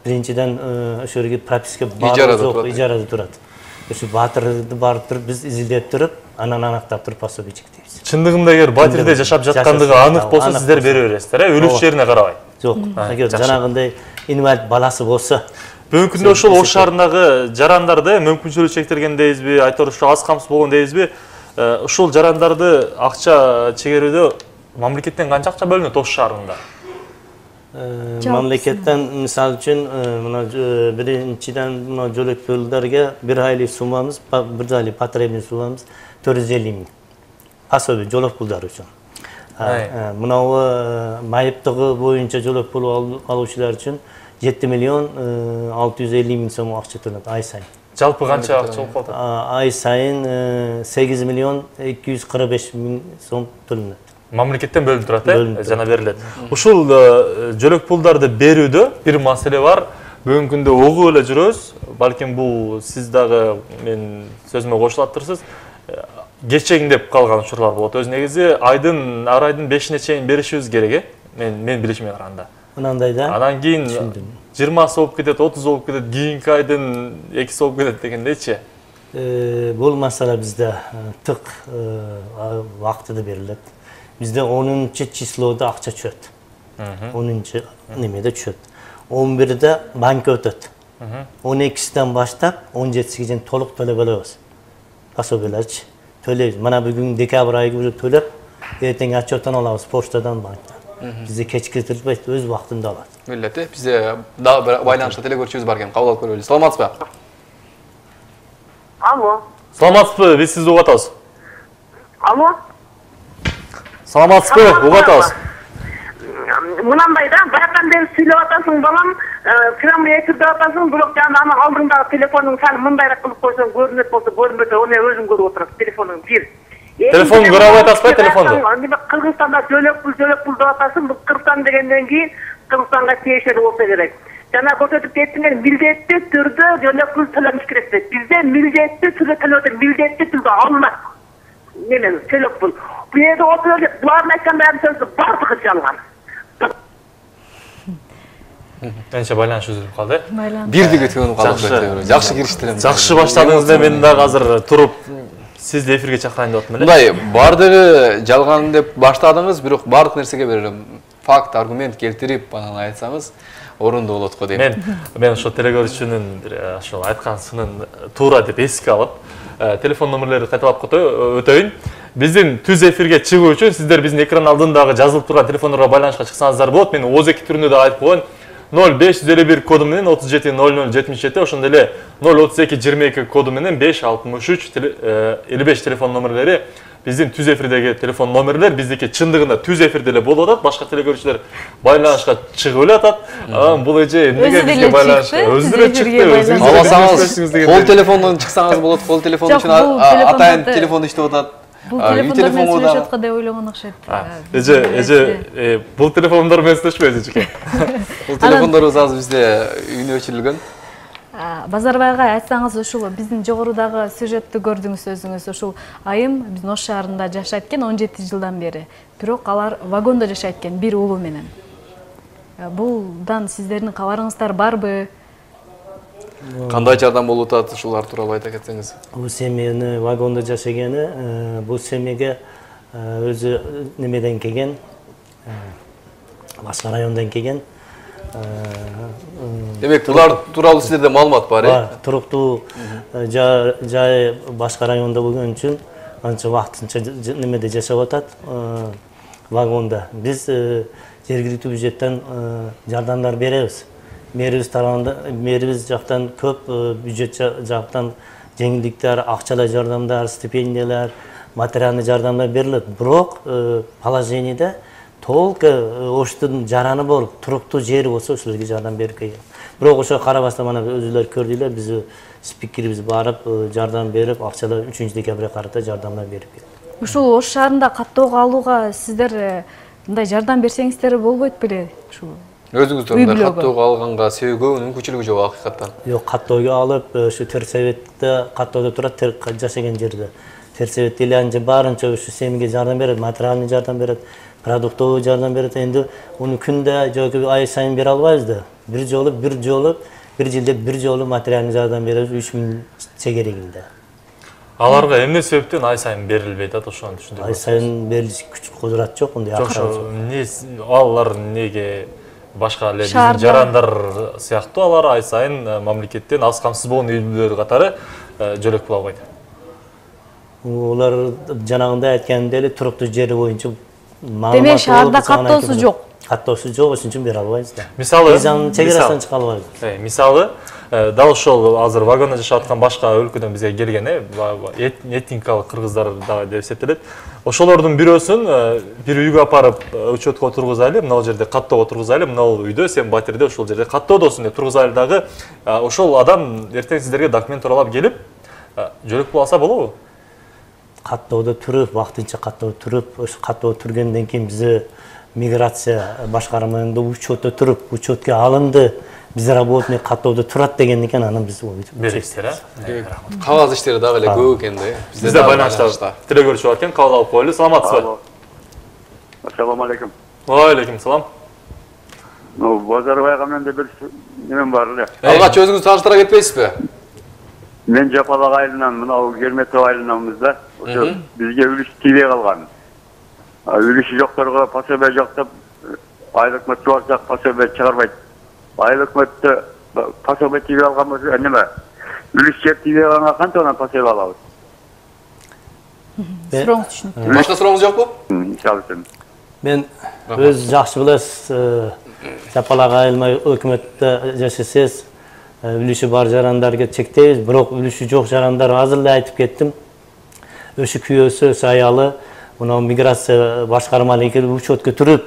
биринчиден ошо жерге прописка бар жок, ижарада турат. Ошо Батирди барып туруп биз изилдеп туруп, анан анактап туруп пособие чектейбиз.
Чындыгында эгер Батирде жашап жаткандыгы анык болсо, сиздер бере бересиздер, үлүш жерине карабай.
Жок, эгер жанагындай инвалид баласы болсо,
бүгүнкү күндө ошол Ош шаарындагы жарандарды мүмкүнчүлүгү чектелген дейбизби, айтору ошо аз камсыз болгон дейбизби? Ушул жарандарды акча чегерүүдө мамлекеттен канча акча бөлүнөт Ош шаарында?
Мамлекеттен мисалы үчүн мына биринчиден мына жөлөк пулдарга бир айлык суммамыз, бир айлык потребный суммамыз 450 миң. Пособие жолок пулдар үчүн. Мына майыптыгы боюнча жолок пул алуучулар үчүн 7 миллион 650 миң сом акча төлөнөт ай сайын.
Жалпы канча акча болуп калат?
Ай сайын 8 миллион 245 миң сом төлөнөт.
Мамлекеттен бөлүнүп турат, жана берилет. Ушул жөлөк пулдарды берүүдө бир маселе бар. Бүгүнкү күндө угуп эле жүрөбүз. Балким бул сиз дагы мен сөзүмө кошулаттырсыз. Кечеңдеп калган учурлар болот. Өз негизи ар айдын 5-ине чейин беришибиз керек, мен билишиме караганда.
Мынандай да.
Анан кийин 20 болуп кетет, 30 болуп кетет, кийинки айдын 2 болуп кетет дегендейчи.
Бул маселе бизде тык вактыда берилет. Bizde 10-чы числода акча түшөт. 10-чы немеде түшөт. 11-де банка өтөт. 12-сиден баштап 17-сиге чейин толук төлөп алабыз. Пособиелерчи төлөйбүз. Мына бүгүн декабрь айы төлөп, эртең отчеттан алабыз почтадан, банктан. Бизде кечикиртилбейт, өз убактында алат.
Милдети, бизде дагы бир байланышта телекөрүүчүбүз бар экен, кабыл алып көрөлү. Саламатсызбы?
Алло.
Саламатсызбы? Биз сизди угуп атабыз.
Алло.
Саламатсызбы? Угуп атабыз.
мынандай да, баягыдан бери сүйлөп атасың балам, прямой эфирде атасың, бирок жана анын алдындагы телефонуң сен мындайраак кылып койсоң көрүнөт болсо, көрүнбөсө аны өзүң көрүп отурасың телефонуң бир.
Телефон көрө албай атасызбы телефонду?
Кыргызстанда жөлөк пул деп атасың, бул Кыргызстан дегенден кийин Кыргызстанга тиешелүү болсо керек. Жана көрсөтүп кеттиңер, милдеттүү түрдө жөлөк пул төлөмүш керек деп. Бизде милдеттүү түрдө төлөтөт, милдеттүү түрдө алынат. Немен жөлөк пул. Бу жерде отуруп, булардын айткан сөзү бардыгы жалган.
Энче байланыш үзүлүп калды.
Бирдиги төгүнүп калды. Жакшы кириштире.
Жакшы баштадыңыз да, мен дагы азыр туруп сизди эфирге чакырайын деп атам эле.
Мындай бардыгы жалган деп баштадыңыз, бирок бардык нерсеге бир факт, аргумент келтирип анан айтсаңыз орунду болот го дейм.
Мен ошо телекөрүүчүнүн ошо айткансынын туура деп эске алып, телефон номерлерди кайталап өтөйүн. Биздин түз эфирге чыгуу үчүн сиздер биздин экран алдындагы жазылып турган телефондорго байланышка чыксаңыздар болот. Мен ооз2 түрүндө да айтып коеюн. 0551 коду менен 370077, ошондой эле 03222 коду менен 56355 телефон номерлери биздин түз эфирдеги телефон номерлер. Биздики чындыгында түз эфирде эле болуп атат, башка телекөрүүчүлөр байланышка чыгып эле атат. Бул эже эмнеге бизге байланышка өзү деле чыкты.
Алсаңыз кол телефондон чыксаңыз болот, кол телефон үчүн атайын телефон иштеп атат.
Бул телефондор менен сүйлөшүп аткан деп ойлогон окшойт.
Эже бул телефондор менен сүйлөшпөйбүз эчеке.
Бул телефондорубуз азыр бизде үйүнө өчүрүлгөн.
Базарбай агай, айтсаңыз, ушул биздин жогорудагы сюжетти көрдүңүз өзүңүз. Ушул айым биздин Ош шаарында жашайт экен 17 жылдан бери. Бирок алар вагондо жашайт экен бир уулу менен. Булдан сиздердин кабарыңыздар барбы?
Кандай жардам болуп атат, ушулар тууралуу айта кетсеңиз.
Бул семьяны вагондо жашаганы, бул семьяга өзү немеден келген, башка райондон келген.
Демек, булар тууралуу сиздерде маалымат бар,
Бар, туруктуу жай башка райондо болгон үчүн анча вактынча немеде жашап атат, вагонда. Биз жергиликтүү бюджеттен жардамдар беребиз. Мэрибиз тарабында, мэрибиз жактан көп бюджет жактан жеңилдиктер, акчалай жардамдар, стипендиялар, материалдык жардамдар берилет. Бирок положениеде толук Оштун жараны болуп, туруктуу жери болсо ошолорго жардам берип келген. Бирок ошо карабастан мана өзүлөр көрдүлөр, биз спикерибиз барып жардам берип, акчалай 3 декабрга карата жардамдар берип келди.
Ушул Ош шаарында каттоого алууга сиздер мындай жардам берсеңиздер болбойт беле? Ушул
өзүңүздөр каттоого алганга көбүнүн мүмкүнчүлүгү жок акыйкаттан.
Жок, каттоого алып, ушу Терсеветте каттоодо турат, жашаган жерде. Терсевет эле баарынча ушу семьяга жардам берет, материалдык жардам берет, продуктовый жардам берет. Энди уну күндө жок ай сайын бере албайбыз да. Бир жолу, бир жылда бир жолу материалдык жардам беребиз 3000 чегерегинде.
Аларга эмне себептен ай сайын берилбейт атат, ошону түшүндүрүп.
Ай сайын берилиш күч кудурат жок, мындай акча
жок. Алар неге башка эле биздин жарандар сыяктуу алар ай сайын мамлекеттен аз камсыз болгон үй бүлөлөр катары жөлөк пул албайт?
Улар жанагындай айткандай эле туруктуу жери боюнча
демек шаарда каттоосу жок.
Каттоосу жок, ошон үчүн бере албайбыз да.
Мисалы,
чегерасынан чыга албайбыз.
Мисалы, дал ошол азыр вагондо жашап аткан башка өлкөдөн бизге келген этникалык кыргыздар дагы деп эсептелет. Ошолордун бирөөсүн бир үйгө апарып учетко отургузайлы, мына жерде каттоого отургузайлы, мына үйдө сен батирде ошол жерде каттоодосуң деп тургузайлы дагы. Ошол адам эртең сиздерге документ тууралап келип, жөлөк пул алса болобу?
Каттоодо туруп, вактынча каттоодо туруп, ошо каттоодо тургандан кийин бизде миграция башкармасында учетто туруп, учетке алынды, биз работник каттоодо турат деген экен, анан биз
бересиздер,
Кагаз иштери дагы эле көп экен да.
Бизде байланышта телекөрүүчү бар экен, кабыл алып коелу. Саламатсызбы?
Ассаламу алейкум.
Ва алейкум салам.
Базарбайга менде бир немем бар эле.
Алгач өзүңүз тааныштыра кетпейсизби?
Мен Жапалак айылынан, мынау Керметов айылынанбыз да. Ошо бизге үлүш тийбей калган. Үлүшү жокторго пособие жок деп айыл өкмөт чыгарсак пособие чыгарбайт. Айыл өкмөттө пособие тийбей алган болсо неме? Үлүш жер тийбей калганга кантип анан пособие алабыз?
Сурооңуз түшүнүктүү.
Башка сурооңуз жокпу?
Мисалы үчүн.
Мен өз жакшы билесиз, Жапалак айылына өкмөттө жашасаңыз, үлүшү бар жарандарга чектейбиз, бирок үлүшү жок жарандар азыр эле айтып кеттим. Өшү күйөөсү, аялы, мына миграция башкармалыгы учетко туруп,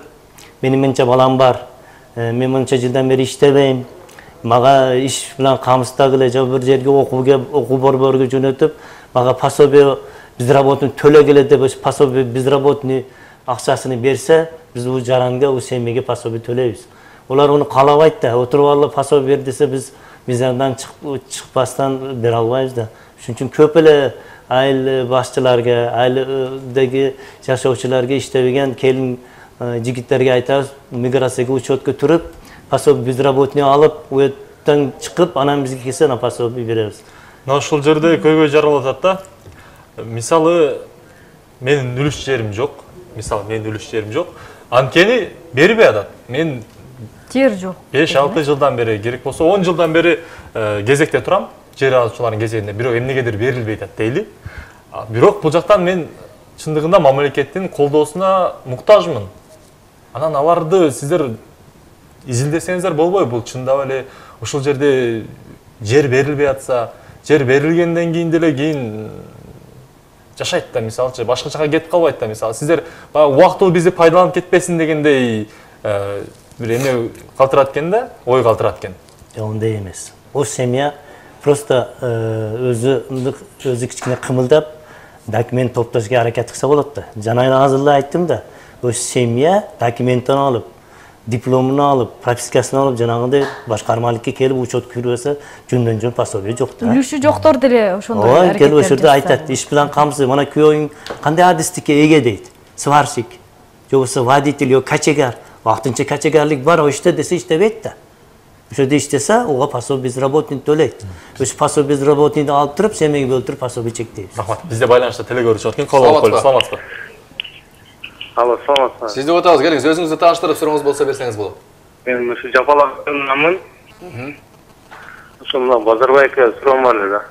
Менин мынча балам бар. Мен мынча жылдан бери иштебейм. Мага иш менен камсыздагыла же бир жерге окуу борборго жөнөтүп, мага пособие безработный төлөгеле деп пособие безработный акчасын берсе, биз бул жаранга, бул семьяга пособие төлөйбүз. Олар аны каалабайт да, отуруп алып пособие бер десе биз мизандан чыкпастан бере албайбыз да. Ошон үчүн көп эле айыл башчыларга, айылдагы жашоочуларга иштебеген келин жигиттерге айтабыз, миграцияга учетко туруп, пособие безработный алып, уеттен чыгып, анан бизге келсе, анан пособие беребиз.
Мына ушул жерде көйгөй жаралып атат да. Мисалы, менин үлүш жерим жок. Анткени бербей атат. Мен
жер жок.
5-6 жылдан бери, керек болсо 10 жылдан бери кезекте турам. Жер алуучулардын кезегинде, бирок эмнегедир берилбей атат дейли. Бирок бул жактан мен чындыгында мамлекеттин колдоосуна муктажмын. Анан аларды сиздер изилдесеңиздер болбойбу? Бул чындап эле ушул жерде жер берилбей атса, жер берилгенден кийин деле кийин жашайт да, мисалчы, башка жака кетип калбайт да, мисалы. Сиздер убактылуу бизди пайдаланып кетпесин дегендей бир эме калтырат экен да, ой калтырат экен.
Ондай эмес. О семья просто өзү кичине кымылдап документ топтошко аракет кылса болот да. Жана азыр эле айттым да, о семья документин алып, дипломун алып, пропискасын алып, жанагындай башкармалыкка келип учет кирбесе, жөндөн-жөн пособие жок да.
Үлүшү жоктор деле ошондой
аракеттер. Келип ошол жерде айтат, иш менен камсыз, мына күйөөң кандай адистикке эге дейт. Сварщик, же болбосо водитель, же качегар. Вактынча качегарлык бар, иште десе иштебейт да. Ошо жерде иштесе, ого пособие безработный төлөйт. Ошо пособие безработныйды алып туруп, семьяга бөлтүрүп пособие чектейбиз.
Рахмат. Бизде байланышта телекөрүүчү бар экен. Кол алып коелу. Саламатсызбы?
Алло, саламатсызбы?
Сизди отабыз, келиңиз, өзүңүздү тааныштырып сурооңуз болсо берсеңиз болот.
Мен ушу Жапалакчынанмын. Ошо мына Базарбайга суроом бар эле да.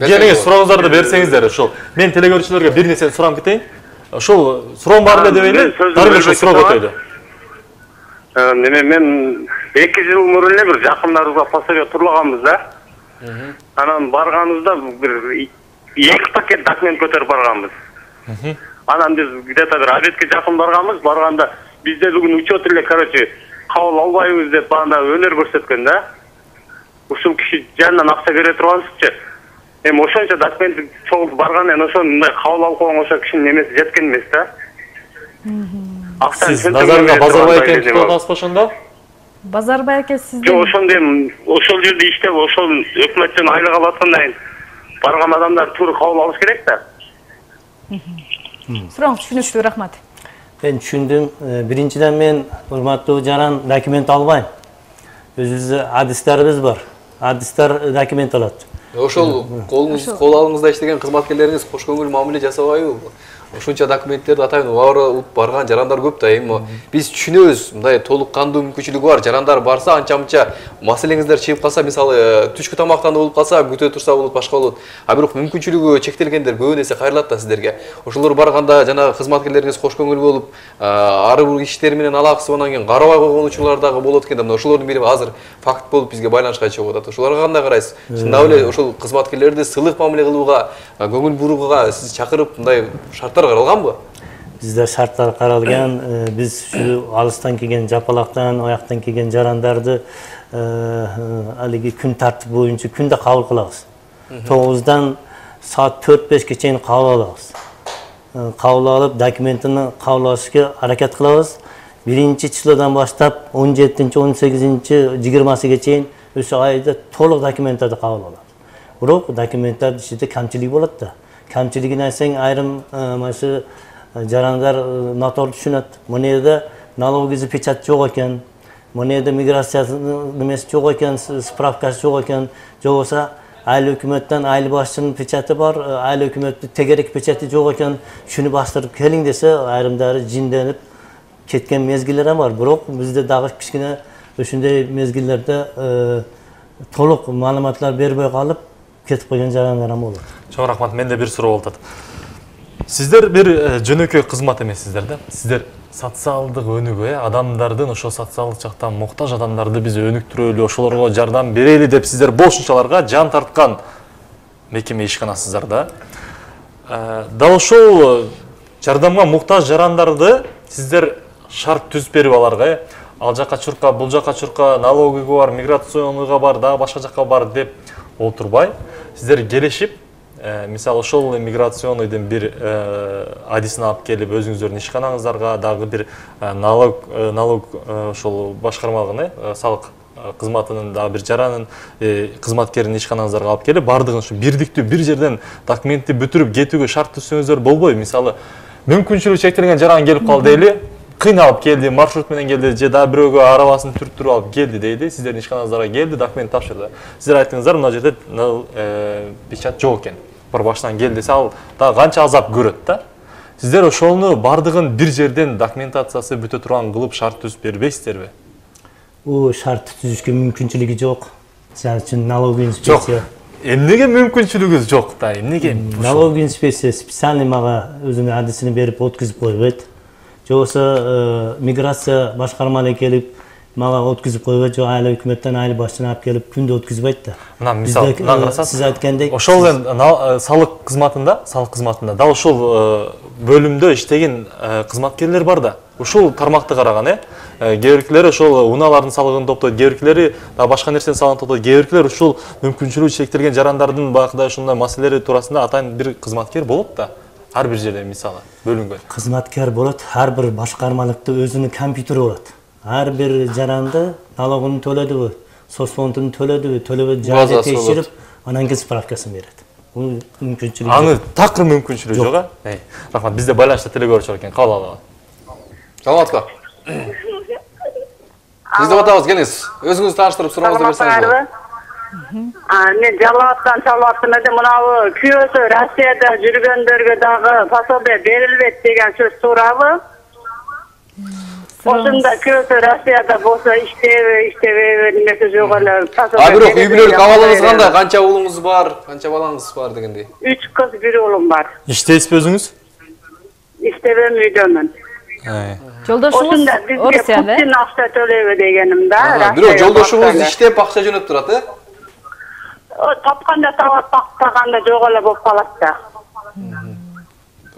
Келиңиз, сурооңуздарды берсеңиздер. Ошол мен телекөрүүчүлөргө бир нерсени сурап кетейин. Ошол суроом бар эле дебейли, дары ошол суроо көтөйлү.
Мен 2 жыл мурун эле бир жакындарыбызга пособие турлаганбыз да. Анан барганыбызда бир 2 пакет документ көтөрүп барганбыз. Анан биз где-то бир обедке жакын барганбыз, барганда бизде бүгүн учет эле, короче, кабыл албайбыз деп анда өнөр көрсөткөн да. Ушул киши жанынан акча бере тургансызчы. Эми ошончо документ чогултуп баргандан ошону мындай кабыл алып койгон ошо кишинин немеси жеткен эмес да.
Сиз Базарга Базарбай экен туруп атасызбы ошондо?
Базарбай эке сиздин
жок, ошондо эми ошол жерде иштеп, ошол өкмөттөн айлык алып аткандан кийин барган адамдар туура кабыл алыш керек да.
Сурооңуз түшүнүктүү, рахмат.
Мен түшүндүм. Биринчиден мен урматтуу жаран документ албайм. Өзүбүздө адистерибиз бар. Адистер документ алат.
Ошол кол алыңызда иштеген кызматкерлериңиз кош көңүл мамиле жасабайбы? Ушунча документтерди атайын алып барган жарандар көп да. Эми биз түшүнөбүз, мындай толук кандуу мүмкүнчүлүгү бар. Жарандар барса, анча-мынча маселеңиздер чыгып калса, мисалы түшкү тамактануу болуп калса, күтө турса болот, башка болот. А бирок мүмкүнчүлүгү чектелгендер көбүн эсе кайрылат да сиздерге. Ошолор барганда жана кызматкерлериңиз кош көңүл болуп, ар бир иштери менен алакасы анан кийин карабай койгон учурлар дагы болот экен да. Мына ошолордун бири азыр факт болуп бизге байланышка чыгып атат. Ошолорго кандай карайсыз? Чындап эле ошол кызматкерлерди сылык мамиле кылууга, көңүл бурууга сиз чакырып мындай шарттар каралганбы?
Бизде шарттар каралган. Биз ушу алыстан келген, Жапалактан, аяктан келген жарандарды алиги күн тартип боюнча күндө кабыл кылабыз. 9-дан саат 4-5ке чейин кабыл алабыз. Кабыл алып, документini кабыл алышка аракет кылабыз. 1-числодан баштап 17-чи, 18-чи, 20-сыга чейин ошо айда толук документтерди кабыл алабыз. Бирок документтердин ичинде камчылык болот да. Камчылыгын айтсаң, айрым машы жарандар наторду түшүнөт. Мына жерде налоговый печать жок экен, мына жерде миграциянын немеси жок экен, справкасы жок экен, же болбосо айыл өкмөттөн айыл башчынын печати бар, айыл өкмөттүн тегерек печати жок экен, шуну бастырып келиң десе, айрымдары жинденип кеткен мезгилдер бар. Бирок бизде дагы кичине ошондой мезгилдерде толук маалыматтар бербей калып кетип койгон жарандар болот.
Чоң рахмат. Менде бир суроо болот. Сиздер бир жөнөкөй кызмат эмессиздер да. Сиздер социалдык өнүгүү, адамдардын ошо социалдык жактан муктаж адамдарды биз өнүктүрөлү, ошолорго жардам берели деп сиздер бошунчаларга жан тарткан мекеме ишканасыздар да. Дал ошол жардамга муктаж жарандарды сиздер шарт түзүп берип аларга, ал жака чурка, бул жака чурка, налогига бар, миграционныйга бар, дагы башка жака бар деп отурбай, сиздер келишип, мисалы ошол миграционныйдын бир адисин алып келип, өзүңүздөрдүн ишканаңыздарга дагы бир налог ошол башкармалыгын, салык кызматынын дагы бир жаранын кызматкерин ишканаңыздарга алып келип, бардыгын ушу бирдиктүү бир жерден документти бүтүрүп кетүүгө шарт түзсөңүздөр болбойбу? Мисалы, мүмкүнчүлүгү чектелген жаран келип калды дейли, кыйналып келди, маршрут менен келди, же дагы бирөөгө арабасын түрттүрүп алып келди дейди, сиздердин ишканаңыздарга келди, документ тапшырды. Сиздер айттыңыздар, мына жерде печать жок экен. Бір баштан кел десе, ал да канча азап көрөт да. Сиздер ошону бардыгын бир жерден документациясы бүтө турган кылып шарт түзүп бербейсиздерби?
Бул шарт түзүшкө мүмкүнчүлүгү жок. Сен үчүн налоговый инспекция.
Эмнеге мүмкүнчүлүгү жок да? Эмнеге?
Налоговый инспекция специальный мага өзүнүн адисин берип өткүзүп койбойт. Же болбосо миграция башкармалыгы келип мага өткүзүп койбойт, же айыл өкмөттөн айыл башчына алып келип күндө өткүзбөйт да.
Мына мисалы,
сиз айткандек,
ошол салык кызматында, дал ошол бөлүмдө иштеген кызматкерлер бар да. Ушул тармакты караган, кээ биркилери ошол унаалардын салыгын топтойт, кээ биркилери башка нерсенин салыгын топтойт, кээ биркилер ушул мүмкүнчүлүгү чектелген жарандардын баягыдай ушундай маселелери туурасында атайын бир кызматкер болот да. Ар бир жерде мисалы бөлүнгөн.
Кызматкер болот, ар бир башкармалыкта өзүнүн компьютери болот. Ар бир жаранды налогун төлөдүбү, соцфондун төлөдүбү, төлөбөдү жайга текшерип, анан кийин справкасын берет. Бул мүмкүнчүлүк.
Аны такыр мүмкүнчүлүгү жок, а? Рахмат, бизде байланышта теле көрүүчү бар экен. Кабыл алалы.
Саламатка. Сизди атабыз, келиңиз. Өзүңүздү тааныштырып сурооңузду берсеңиз.
Мен Жалалаттан чалып элем, мынабы күйөөсү Россияда жүргөндөргө дагы пособие берилбейт деген сөз туурабы? Ошондо күйөөсү Россияда болсо иштебейби, немесе жок эле пособие.
Бирок үй бүлөлүк абалыңыз кандай? Канча уулуңуз бар? Канча балаңыз бар дегендей?
3 кыз, 1 уулум бар.
Иштейсизби өзүңүз?
Иштебейм, үйдөмүн.
Жолдошуңуз
Орусияда? Путин акча төлөйбү дегеним да.
Бирок жолдошуңуз иштеп акча жөнөп турат,
Тапканда табат, таппаганда жок эле болуп калат да.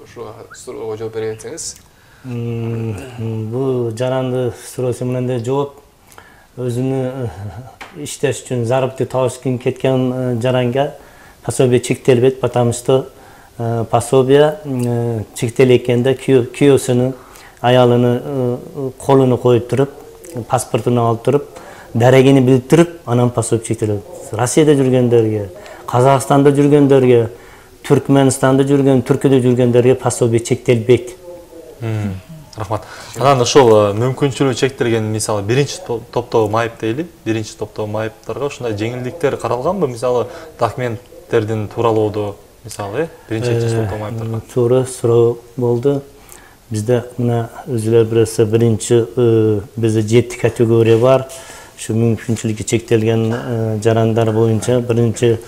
Ошо суроого жооп бере кетсеңиз.
Бул жаранды суроосу менен жооп, өзүнү иштеш үчүн заработок табыш үчүн кеткен жаранга пособие чектелбейт, потому что пособие чектелгенде күйөөсүнүн аялынын колуна коюп туруп, паспортун алып туруп, дарегини билдирип, анан пособие чектелет. Россияда жүргөндөргө, Казакстанда жүргөндөргө, Түркмөнстанда жүргөн, Түркияда жүргөндөргө пособие чектелбейт.
Рахмат. Анан ошол мүмкүнчүлүгү чектелген, мисалы, биринчи топтогу майып дейли, биринчи топтогу майыптарга ушундай жеңилдиктер каралганбы? Мисалы, документтердин тууралоодо, мисалы, биринчи топтогу майыптарга.
Туура суроо болду. Бизде мына өзүлөр билсе биринчи бизде 7 категория бар. Şu мүмкүнчүлүгү чектелген жарандар боюнча биринчи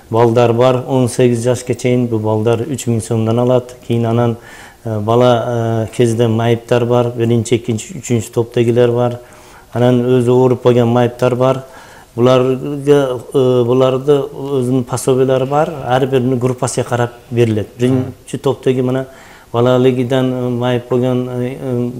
балдар бар, 18 жашка чейин бул балдар 3000 сомдон алат. Кийин анан бала кезде майыптар бар, биринчи, экинчи, үчүнчү топтогилер бар. Анан өзү ооруп койгон майыптар бар. Буларды өзүнүн пособиялары бар, ар бирини группасына карап берилет. Биринчи топтоги мына балалыгынан майып болгон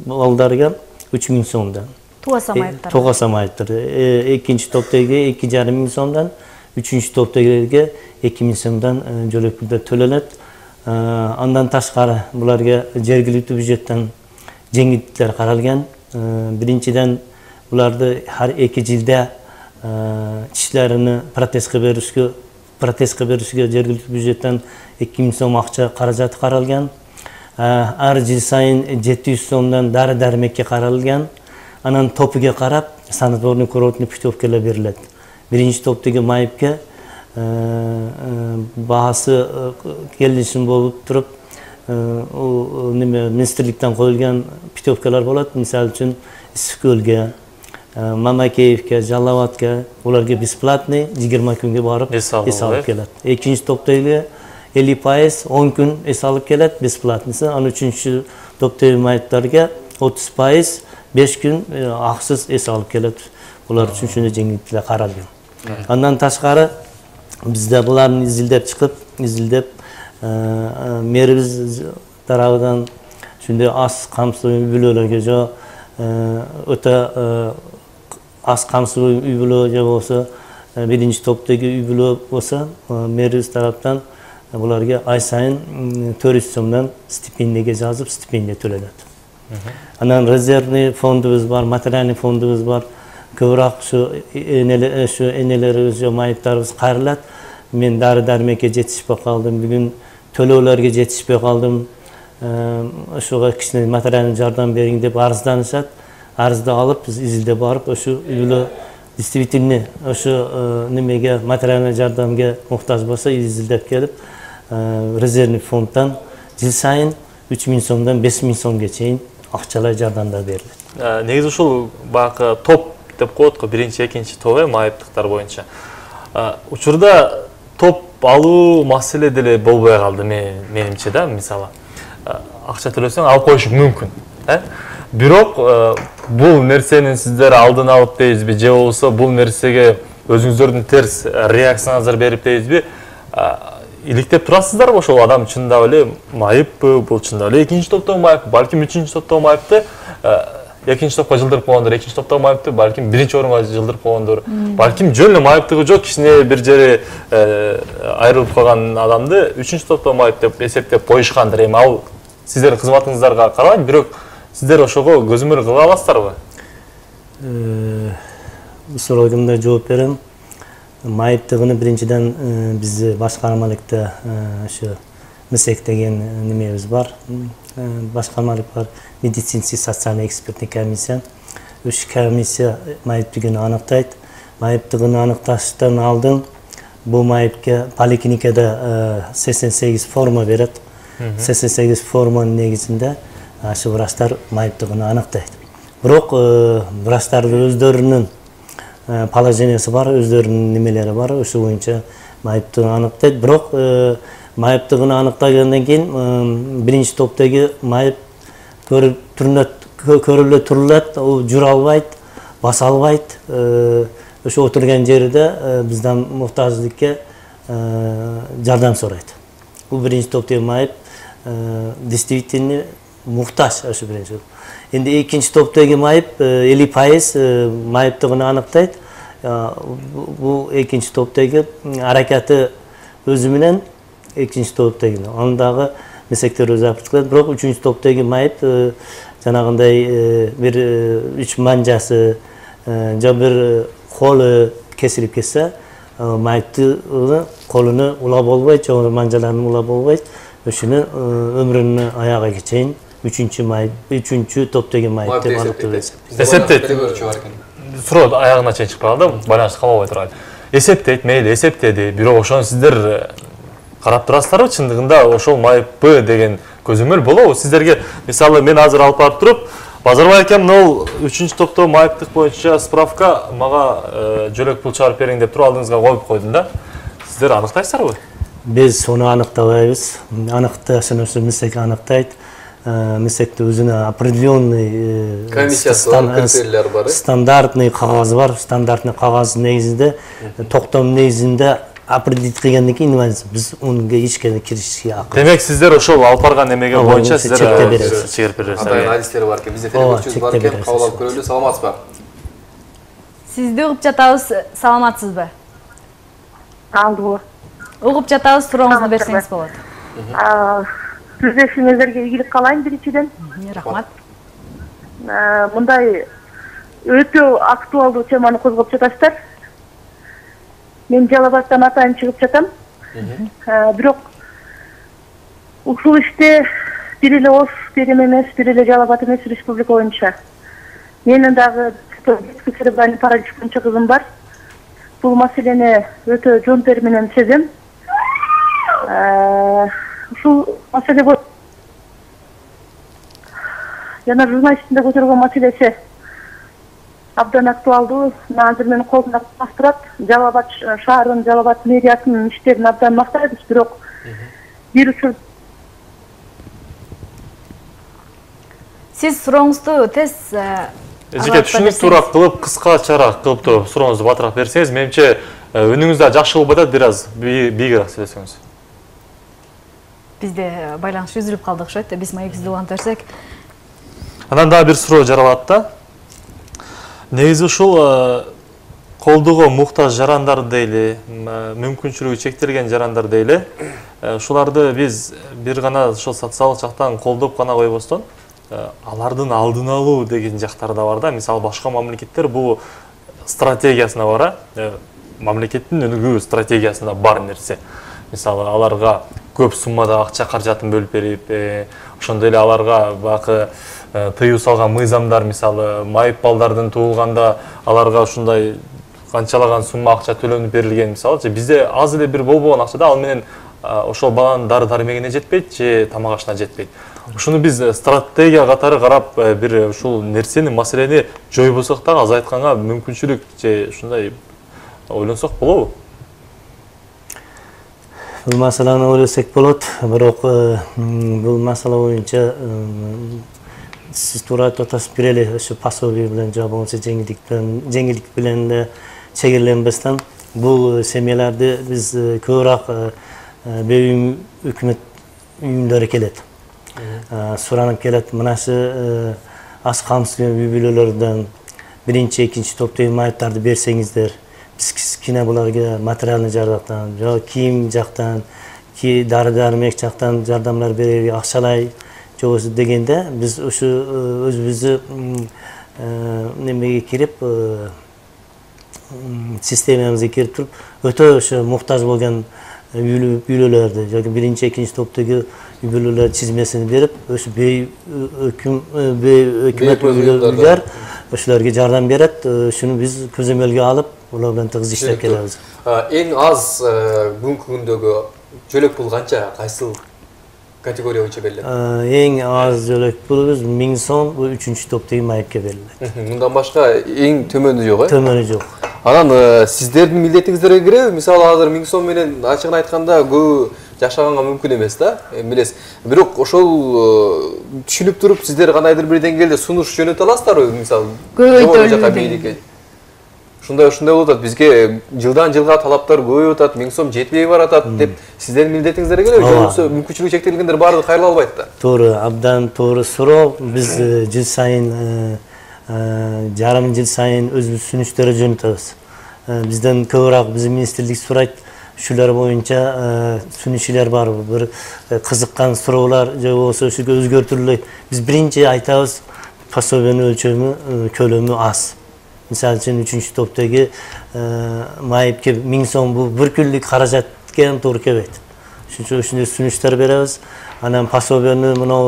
балдарга 3000 сомдон.
Тугаса майыптар.
Тугаса майыптар. Экинчи топтоги 2500 сомдон, үчүнчү топтогилерге 2000 сомдон жөлөкүлдөр төлөнөт. Андан ташкары буларга жергиликтүү бюджеттен жеңилдиктер каралган. Биринчиден буларды har 2 жылда ишлерини протезге беришке жергиликтүү бюджеттен 2000 сом акча каражаты каралган. Ар жыл сайын 700 сомдон дары-дармекке каралган. Анан топуга карап санаторный курортный путевкалар берилет. Биринчи топтогу майыпка баасы келишим болуп туруп, министрликтен коюлган путевкалар болот. Мисалы үчүн Исикөлгө, Мамакеевке, Жалалатка, уларга бесплатный 20 күнгө барып эс алып келет. Экинчи топтогу 50%, 10 күн эс алып келет, бесплатныйсы. Анан үчүнчү топтогу майыптарга 30%, 5 күн аксыз эс алып келет. Булар үчүн ушундай жеңилдиктер каралган. Андан ташкары бизде буларды изилдеп мэрибиз тарабынан ушундай аз камсыз үй бүлөлөргө же өтө аз камсыз үй бүлө же болбосо биринчи топтогу үй бүлө болсо мэрибиз тараптан буларга ай сайын 400 сомдон стипендияга жазып стипендия төлөнөт. Анан резервный фондубуз бар, материальный фондубуз бар. Көбүрөөк ушу энелерибиз же майыптарыбыз кайрылат. Мен дары-дармекке жетишпей калдым, бүгүн төлөөлөргө жетишпей калдым. Ошого кичине материальный жардам бериң деп арызданышат. Арызды алып, биз изилдеп барып, ошу үй бүлө действительно ошу немеге материальный жардамга муктаж болсо изилдеп келип, резервный фонддон жыл сайын 3000 сомдон 5000 сомго чейин акчалай жардамдар берилет.
Негизи ушул баягы топ деп коет го, биринчи, экинчи топ майыптыктар боюнча. Учурда топ алуу маселе деле болбой калды менимче да, мисалы. Акча төлөсөң алып коюшу мүмкүн, бирок бул нерсенин сиздер алдын алып дейсизби, же болбосо бул нерсеге өзүңүздөрдүн терс реакцияңыздар берип дейсизби? Иликтеп турасыздарбы ошол адам чындап эле майыппы, бул чындап эле экинчи топтогу майыппы, балким үчүнчү топтогу майыпты, экинчи топко жылдырып койгондор, экинчи топтогу майыпты, балким биринчи орунга жылдырып койгондор, балким жөн эле майыптыгы жок, кичине бир жери айрылып калган адамды үчүнчү топтогу майып деп эсептеп коюшкандыр. Эми ал сиздердин кызматыңыздарга карабайт, бирок сиздер ошого көзөмөл кыла аласыздарбы?
Бул суроого мындай жооп берем. Майыптыгыны биринчиден биз башкармалыкта ошо МСЭК деген немебиз бар. Башкармалык бар, медицинский социальный экспертный комиссия. Үч комиссия майыптыгын аныктайт. Майыптыгын аныкташтан алдын бул майыпка поликлиникада 88 форма берет. 88 форманын негизинде ашы врачтар майыптыгын аныктайт. Бирок врачтардын өздөрүнүн положениясы бар, өздөрүнүн немелери бар, ошол боюнча майыптыгын аныктайт. Бирок майыптыгын аныктагандан кийин биринчи топтогу майып көрүлө турулат, ал жүрө албайт, баса албайт. Ошо отурган жерде бизden муктаждыкка жардам сурайт. Бул биринчи топтогу майып действительно муктаж ошо биринчи. Энди экинчи топтогу майып 50% майыптыгын аныктайт. Бул экинчи топтогу аракети өзү менен экинчи топтогу. Андагы месектер өзү апарып келет. Бирок үчүнчү топтогу майып жанагындай бир 3 манжасы же бир колу кесилип кетсе, майыптын колуну улап болбойт, же манжаларын улап болбойт. Ошону өмүрүнүн аягына чейин үчүнчү топтогу майып деп аныкталат.
Эсептейт. Суроо аягына чейин чыкпай калды, байланыш калбай турат. Эсептейт, мейли эсептеди, бирок ошону сиздер карап турасыздарбы? Чындыгында ошол майыппы деген көзөмөл болобу? Сиздерге мисалы мен азыр алып барып туруп, Базарбай акем мына 3-чү топтогу майыптык боюнча справка мага жөлөк пул чыгарып бериң деп туруп алдыңызга коюп койдум да. Сиздер аныктайсыздарбы?
Биз сону аныктабайбыз. Аныкташын ошо МСЭК аныктайт. МСЭКте өзүнө определенный
критерийлер бар.
Стандартный кагаз бар. Стандартный кагаз негизинде токтом негизинде определить кылгандан кийин биз унга ичке киришке акыл.
Демек сиздер ошол алып барган эмеге боюнча сиздер чегирип бересиздер.
Андай анализдер бар экен. Бизде телефончубуз бар экен. Кабыл алып көрөлү. Саламатсызбы?
Сизди угуп жатабыз. Саламатсызбы?
Алло.
Угуп жатабыз, сурооңузду берсеңиз болот.
Сүздөшүңүздөргө ийгилик каалайм биринчиден.
Рахмат.
Мындай өтө актуалдуу теманы козгоп жатасыздар. Мен Жалал Абадтан атайын чыгып жатам. Бирок ушул иште бир эле Ош терим эмес, бир эле Жалал Абад эмес, республика боюнча. Менин дагы церебральный паралич боюнча кызым бар. Бул маселени өтө жон тери менен сезем. Ушул маселе жана журналисттин көтөргөн маселеси абдан актуалдуу. Азыр менин колумда турат. Жалал Абад шаарынын, Жалал Абад мэриясынын иштерин абдан мактайбыз, бирок бир учур
Сиз сурооңузду тез
Эжеке түшүнүктүүрөөк кылып, кыскачараак кылып туруп сурооңузду батыраак берсеңиз, менимче үнүңүз да жакшы болуп атат, бир аз бийигирээк сүйлөсөңүз.
Бизде байланыш үзүлүп калды окшойт. Биз маегибизди улантып берсек.
Анан дагы бир суроо жаралат да. Негизи ушул колдоого муктаж жарандар дейли, мүмкүнчүлүгү чектелген жарандар дейли. Ушуларды биз бир гана ошол социалдык жактан колдоп гана койбостон, алардын алдын алуу деген жактары да бар да. Мисалы башка мамлекеттер бул стратегиясына бар, мамлекеттин өнүгүү стратегиясында бар нерсе. Мисалы аларга көп суммада акча каражатын бөлүп берип, ошондой эле аларга бакы тыюу салган мыйзамдар, мисалы майып балдардын туулганда аларга ушундай канчалаган сумма акча төлөнүп берилген, мисалы бизде аз эле бир болбогон акчада ал менен ошол баланын дары-дармегине жетпейт же тамак ашына жетпейт. Ушуну биз стратегия катары карап бир ушул нерсени, маселени жойбосок дагы азайтканга мүмкүнчүлүк же ушундай ойлонсок болобу?
Бул маселени ойлосок болот, бирок бул масала боюнча сиз туура айтып атасыз, бир эле ошо пособие менен же болбосо жеңилдик менен чегерленбестен бул семьяларды биз көбүрөөк өкмөт үйүндөрү келет. Суранып келет, мынасы аз камсыз үй-бүлөлөрдөн биринчи, экинчи топтогу майыптарды берсеңиздер, биз кичине буларга материалдык жардам, же кийим жактан, дары-дармек жактан жардамдар берели, акчалай жобосу дегенде биз ушу өзүбүздү немеге кирип, системабызга кирип туруп, өтө ошо муктаж болгон үй-бүлөлөрдү, жана биринчи, экинчи топтогу үй-бүлөлөр чизмесин берип, ошо өкмөт үйлөр ошолорго жардам берет. Ушуну биз көзөмөлгө алып, улар менен тыгыз иштеп келебиз.
Эң аз бүгүнкү күндөгү жөлөк пул канча? Кайсыл категория боюнча берилет?
Эң аз жөлөк пулубуз 1000 сом, бул 3-топтогу майыпка берилет.
Мындан башка эң төмөнү жок, э?
Төмөнү жок.
Анан сиздердин милдетиңиздерге киреби? Мисалы азыр 1000 сом менен ачыгын айтканда көп жашаганга мүмкүн эмес да, билесиз. Бирок ошол түшүнүп туруп сиздер кандайдыр бир деңгээлде сунуш жөнөтө аласыздарбы? Мисалы көбөйтөлгөн. Ушундай болуп атат. Бизге жылдан жылга талаптар көбөйүп атат, 1000 сом жетпей баратат деп сиздердин милдетиңиздерге келеби? Же болбосо мүмкүнчүлүгү чектелгендер баары кайрыла албайт да?
Туура, абдан туура суроо. Биз жыл сайын жарым жыл сайын өзүбүз сүнүштөр жөнөтөбүз. Бизден көбүрөөк биздин министрлик сурайт. Ушулар боюнча сүнүшүлөр бар, бир кызыккан суроолор же болбосо ушуга өзгөртүлөт. Биз биринчи айтабыз, пособиянын өлчөмү, көлөмү аз. Мисалы үчүн 3-топтогу майыпке 1000 сом бул бир күндүк каражат келип туура келбейт. Ушундай сүнүштөр беребиз. Анан пособиянын мына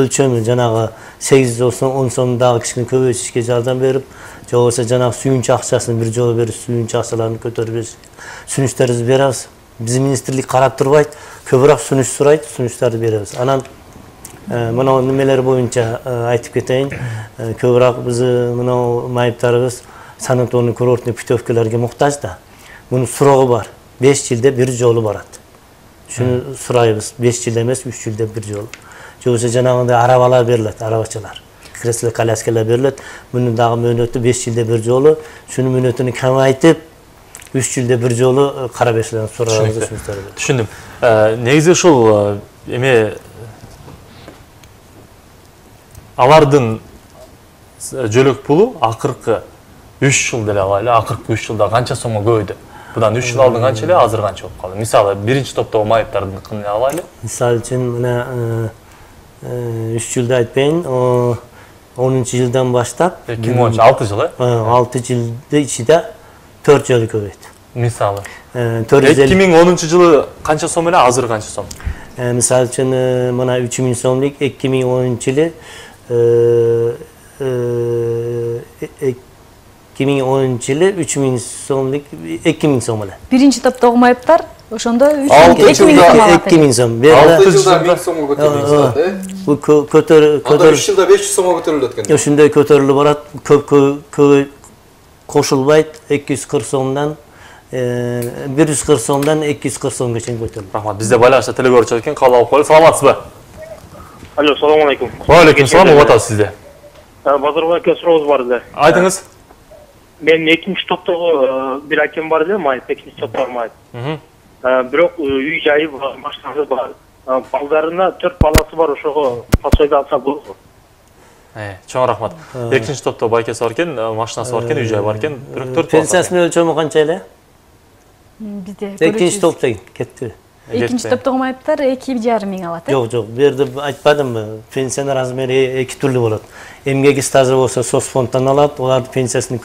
өлчөмү жанагы 8 болсо 10 сом дагы кичине көбөйтүшкө жардам берип, же болбосо жанагы сүйүнчү акчасын бир жолу берип, сүйүнчү акчаларын көтөрүп сүнүштөрүбүздү беребиз. Биздин министрлик карап турбайт, көбүрөөк сүнүш сурайт, сүнүштөрдү беребиз. Анан мына немелер боюнча айтып кетейин, көбүрөөк биз мына майыптарыбыз санаторный курортный путевкаларга муктаж да. Мунун суроо бар. 5 жылда бир жолу барат. Шуну сурайбыз. 5 жылда эмес, 3 жылда бир жолу. Же болбосо жанагындай арабалар берилет, арабачалар. Кресло коляскалар берилет. Мунун дагы мөөнөтү 5 жылда бир жолу. Шунун мөөнөтүн камайтып 3 жылда бир жолу кара бешлерин сурабыз.
Түшүндүм. Негизи ушул эме алардын жөлөк пулу акыркы 3 жыл деле алайлы, акыркы 3 жылда канча сомго көбөйдү? Будан 3 жыл алдын канча эле, азыр канча болуп калды? Мисалы, биринчи топтогу майыптардын алайлы.
Мисалы үчүн мына 3 жылда айтпайын, 10-жылдан баштап
2010 6 жыл,
6 жылды ичинде 4 жолу көбөйдү.
Мисалы 2010-жылы канча сом эле, азыр канча сом?
Мисалы үчүн мына 3000 сомдук 2010-жылы 2010-жылы 3000 сомдук 2000 сом эле.
Биринчи топтогу майыптар ошондо
2000 сом алат.
2000 сом. 6 жылда 1000 сомго көтөрүлөт, э?
Бул көтөр
3 жылда 500 сомго көтөрүлөт экен.
Ошондой көтөрүлүп барат. Көп кошулбайт. 240 сомдон 140 сомдон 240 сомго чейин көтөрүлөт.
Рахмат. Бизде байланышта телегөрчү экен, кабыл алып коелу. Саламатсызбы?
Алло, салам алейкум.
Ва алейкум салам, угуп атабыз сизди.
Базарбай аке сурообуз бар эле.
Айтыңыз.
Мен экинчи топтогу бир акем бар эле, майып, экинчи топтогу майып. Бирок үй жайы бар, машинасы бар. Балдарына 4 баласы бар, ошого пособие алса болобу?
Чоң рахмат. Экинчи топто байкеси бар экен, машинасы бар экен, үй жайы бар экен. Бирок 4
Пенсиясынын өлчөмү канча эле?
Бизде
Экинчи топто кетти.
Экинчи топтогу майыптар 2,5 миң алат.
Жок, бу жерде айтпадымбы, пенсиянын размери эки түрлүү болот. Эмгек стажы болсо соцфонддон алат, олардын пенсиясынын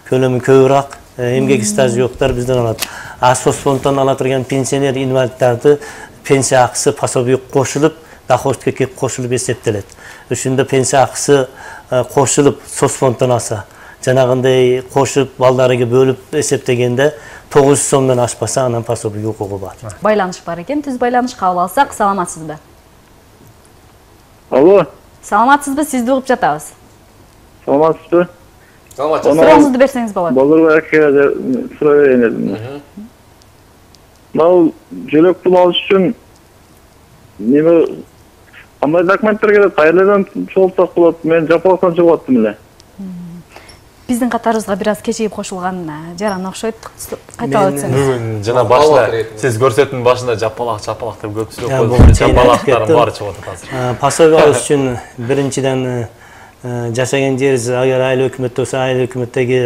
көлөмү көбүрөөк, эмгек стажы жоктор бизден алат. А соцфонддон ала турган пенсионер инвалиддарды пенсия акысы пособие кошулуп, доходке кошулуп эсептелет. Ошондо пенсия акысы кошулуп соцфонддон алса, жанагындай кошуп балдарыга бөлүп эсептегенде 900 сомдон ашпаса, анан пособие укугу бар.
Байланыш бар экен, түз байланыш кабыл алсак, саламатсызбы?
Алло.
Саламатсызбы? Сизди угуп жатабыз.
Саламатсызбы?
Саламатсыз. Сурооңузду берсеңиз болот.
Базарбай акеге суроо берейин дедим. Мал жөлөк пул алыш үчүн неме кандай документтер керек? Кайерден чогултсак болот? Мен жапалактан чыгып аттым эле.
Биздин катарыбызга бир аз кечигип кошулган жаран окшойт. Кайталап өтсөңүз.
Бүгүн жана башында сиз көрсөтүүнүн башында жапалак деп көпчүлүк койду. Жапалактардын баары чыгып атат азыр.
Пособие алыш үчүн биринчиден жашаган жериңиз агар айыл өкмөттө болсо, айыл өкмөттөгү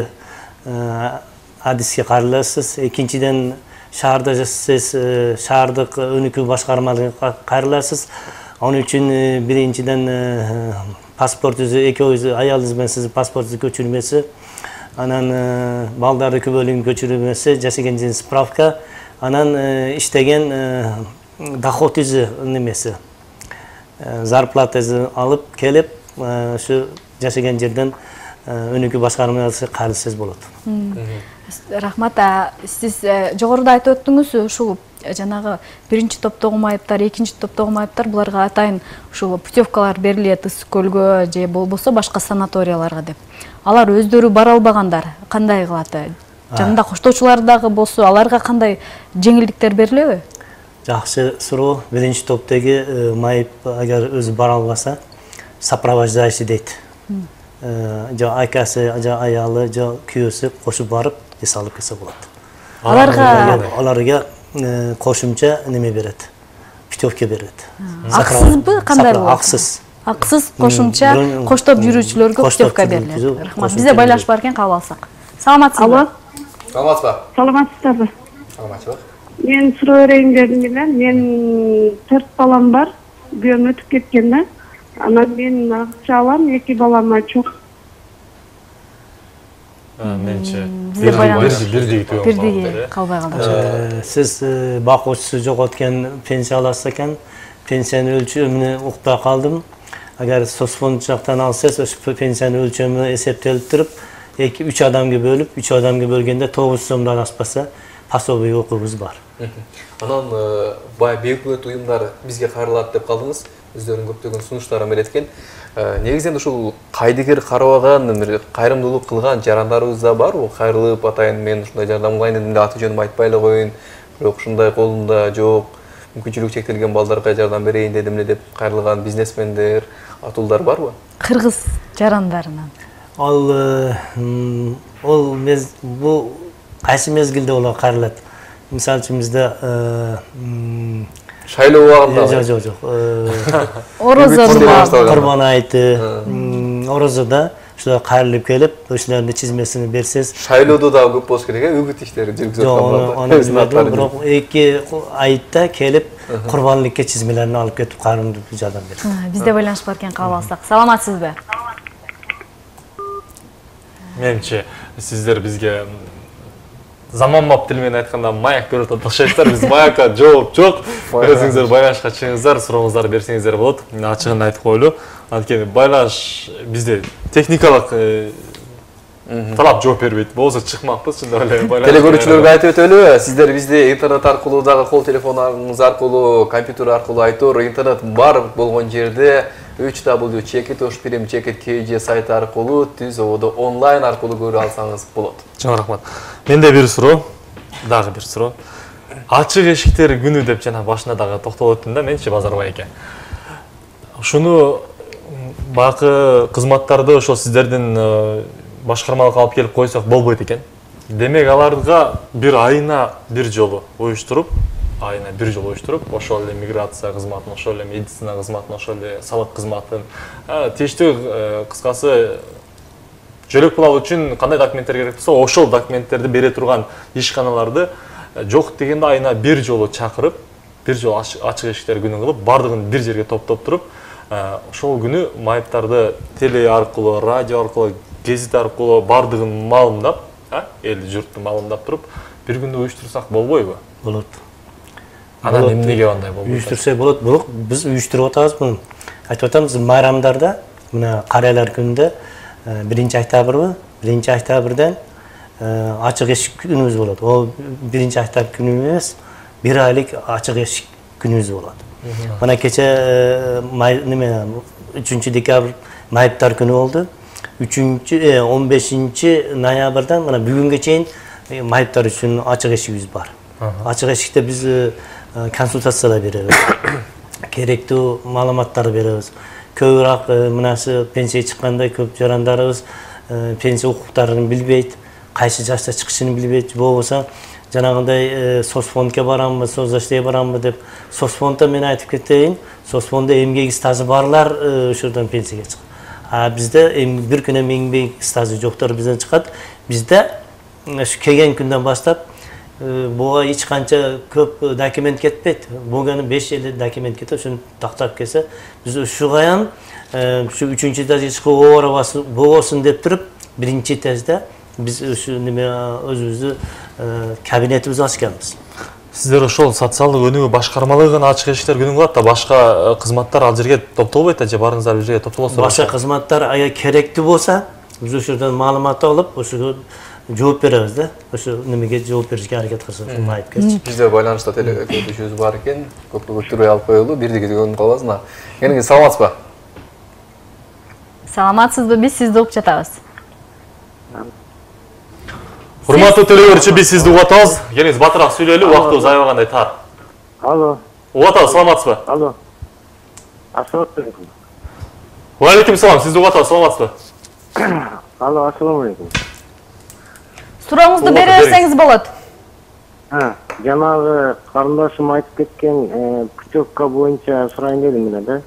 адиске кайрыласыз. Экинчиден шаарда жашасаңыз, шаардык өнүкүү башкармалыгына кайрыласыз. Onun için birinciden pasportunuzu, ekibinizi, ayağınız ben sizi pasportunuzu götürmesi, anan baldardaki bölüm götürülmesi, жасаган spravka, anan iştegen dohodunuzu nemesi, zarplatanızı alıp kelip şu жасаган жерден өнүкүү башкармасы кайрылсаңыз болот.
Рахмат, сиз жогоруда айтып өттүңүз, ушул жанагы биринчи топтогу майыптар, экинчи топтогу майыптар буларга атайын ушул путевкалар берилет Ысык көлгө же болбосо башка санаторияларга деп. Алар өздөрү бара албагандар кандай кылат? Жанында коштоочулар дагы болсо, аларга кандай жеңилдиктер берилеби?
Жакшы суроо. Биринчи топтогу майып агар өзү бара албаса, сопровождающий дейт. Жо акасы, жо аялы, жо күйөөсү кошуп барып, эс алып келсе болот. Аларга кошумча неме берет, путевка берет.
Аксызбы, кандай болот?
Аксыз.
Аксыз кошумча коштоп жүрүүчүлөргө путевка берилет. Рахмат. Бизде байлаш бар экен, кабыл алсак. Саламатсызбы?
Саламатсызбы?
Саламатсызбы?
Саламатсызбы?
Мен суроо берейин дедим эле. Мен 4 балам бар. Бүйөөм өтүп кеткен да. Анан мен акча алам, 2 балама чок.
Менче
бирдиги калбай калды.
Сиз бакуучусу жок өткөн пенсия аласыз экен. Пенсиянын өлчөмүнө укта калдым. Агар соцфонд жактан алсаңыз, ошо пенсиянын өлчөмү эсептелип туруп, 2-3 адамга бөлүп, 3 адамга бөлгөндө 900 сомдон аспаса, пособие укугубуз бар.
Анан бай бейөкмөт уюмдар бизге кайрылат деп калдыңыз. Өздөрүнүн көптөгөн сунуштарын береткен. Негизинен ушул кайдыгер карабаган, кайрымдуулук кылган жарандарыбыз да бар. Кайрылып атайын, мен ушундай жардам кылайын дедим, аты жөнүм айтпай эле коеюн. Бирок ушундай колунда жок, мүмкүнчүлүгү чектелген балдарга жардам берейин дедим эле деп кайрылган бизнесмендер, атуулдар барбы?
Кыргыз жарандарынан.
Бул кайсы мезгилде олар кайрылат? Мисалы үчүн бизде
шайлоо убагында.
Жок.
Орозодо,
Курман айты, орозодо ушулар кайрылып келип, ошолордун чизмесин берсеңиз.
Шайлоодо да көп болуш керек, үгүт иштери жүргүзүп
аткан. Бирок 2 айытта келип, курбанлыкка чизмелерин алып кетип, кайрымдуу жардам берет.
Бизде байланыш бар экен, кабыл алсак. Саламатсызбы?
Менче сиздер бизге заманбап тил менен айтканда маяк берип атат окшойсуздар. Биз маякка жооп жок. Өзүңүздөр байланышка чыгыңыздар, сурооңуздарды берсеңиздер болот. Мен ачыгын айтып коелу. Анткени байланыш бизде техникалык талап жооп бербейт. Болсо чыкмакпыз, чындап эле байланыш.
Телекөрүүчүлөргө айтып өтөлү, сиздер бизди интернет аркылуу дагы кол телефонуңуз аркылуу, компьютер аркылуу айтор, интернет бар болгон жерде www.chekit.kj сайты аркылуу түз ободо онлайн аркылуу көрө алсаңыз болот.
Чоң рахмат. Менде бир суроо, дагы бир суроо. Ачык эшиктер күнү деп жана башында дагы токтолуп өттүм да, менчи Базарбай эке. Ушуну бакы кызматтарды ошол сиздердин башкармалыкка алып келип койсок болбойт экен. Демек аларга бир айына бир жолу уюштуруп, айына 1 жолу уюштуруп, ошол эле миграция кызматын, ошол эле медицина кызматын, ошол эле салык кызматын, тийиштүү кыскасы жөлөк пул алуу үчүн кандай документтер керек болсо, ошол документтерди бере турган ишканаларды жок дегенде айына 1 жолу чакырып, 1 жолу ачык эшиктер күнү кылып, бардыгын бир жерге топтоп туруп, ошол күнү майыптарды теле аркылуу, радио аркылуу, гезит аркылуу бардыгын маалымдап, эл журтту маалымдап туруп, бир күндө уюштурсак болбойбу?
Болот.
Анан эмнеге андай болбойт?
Уюштурса болот, бирок биз уюштуруп атабыз муну. Айтып атабыз, майрамдарда, мына карыялар күнүндө 1-октябрбы, 1-октябрдан ачык эшик күнүбүз болот. Ол 1-октябрь күнү эмес, 1 айлык ачык эшик күнүбүз болот. Мына кече 3-декабрь майыптар күнү болду. 15 ноябрдан мына бүгүнгө чейин майыптар үчүн ачык эшигибиз бар. Ачык эшикте биз консультациялар беребиз. Керектүү маалыматтарды беребиз. Көбүрөөк мынасы пенсия чыкканда көп жарандарыбыз пенсия укуктарын билбейт, кайсы жашта чыгышын билбейт, болбосо жанагындай соцфондко барамбы, соцзащитке барамбы деп, соцфонддо мен айтып кетейин, соцфонддо эмгек стажы барлар ошодон пенсияга чыгат. А бизде бир күн эмгек стажы жоктор бизден чыгат. Бизде ушу келген күндөн баштап буга эч канча көп документ кетпейт. Буганы 5-6 документ кетет, ошону тактап келсе, биз ушугаян ушу 3-этажга чыгуу болбосун деп туруп, 1-этажда биз ушу неме өзүбүздү кабинетибизди ачканбыз.
Сиздер ошол социалдык өнүгүү башкармалыгын ачык эшиктер күнү кылат да, башка кызматтар ал жерге топтолбойт да, же барыңыздар бир жерге топтолосуздар?
Башка кызматтар эгер керектүү болсо, биз ошодон маалымат алып, ошого жооп беребиз да. Ошо немеге жооп беришке аракет кылсак, майыпкерчи.
Бизде байланышта телефон бар экен, көпкө көтүрбөй алып коелу, бирдиги көрүнүп каласың. Келиңиз, саламатсызбы?
Саламатсызбы? Биз сизди угуп жатабыз.
Урматтуу телеөрүүчү, биз сизди угуп атабыз. Келиңиз, батыраак сүйлөйлү, убактыбыз аябагандай тар.
Алло.
Угуп атабыз, саламатсызбы?
Алло. Ассалам алейкум.
Ва алейкум салам, сизди угуп атабыз, саламатсызбы?
Алло, ассалам алейкум.
Сурооңузду бере берсеңиз болот.
Жанагы карындашым айтып кеткен путевка боюнча сурайын дедим эле да.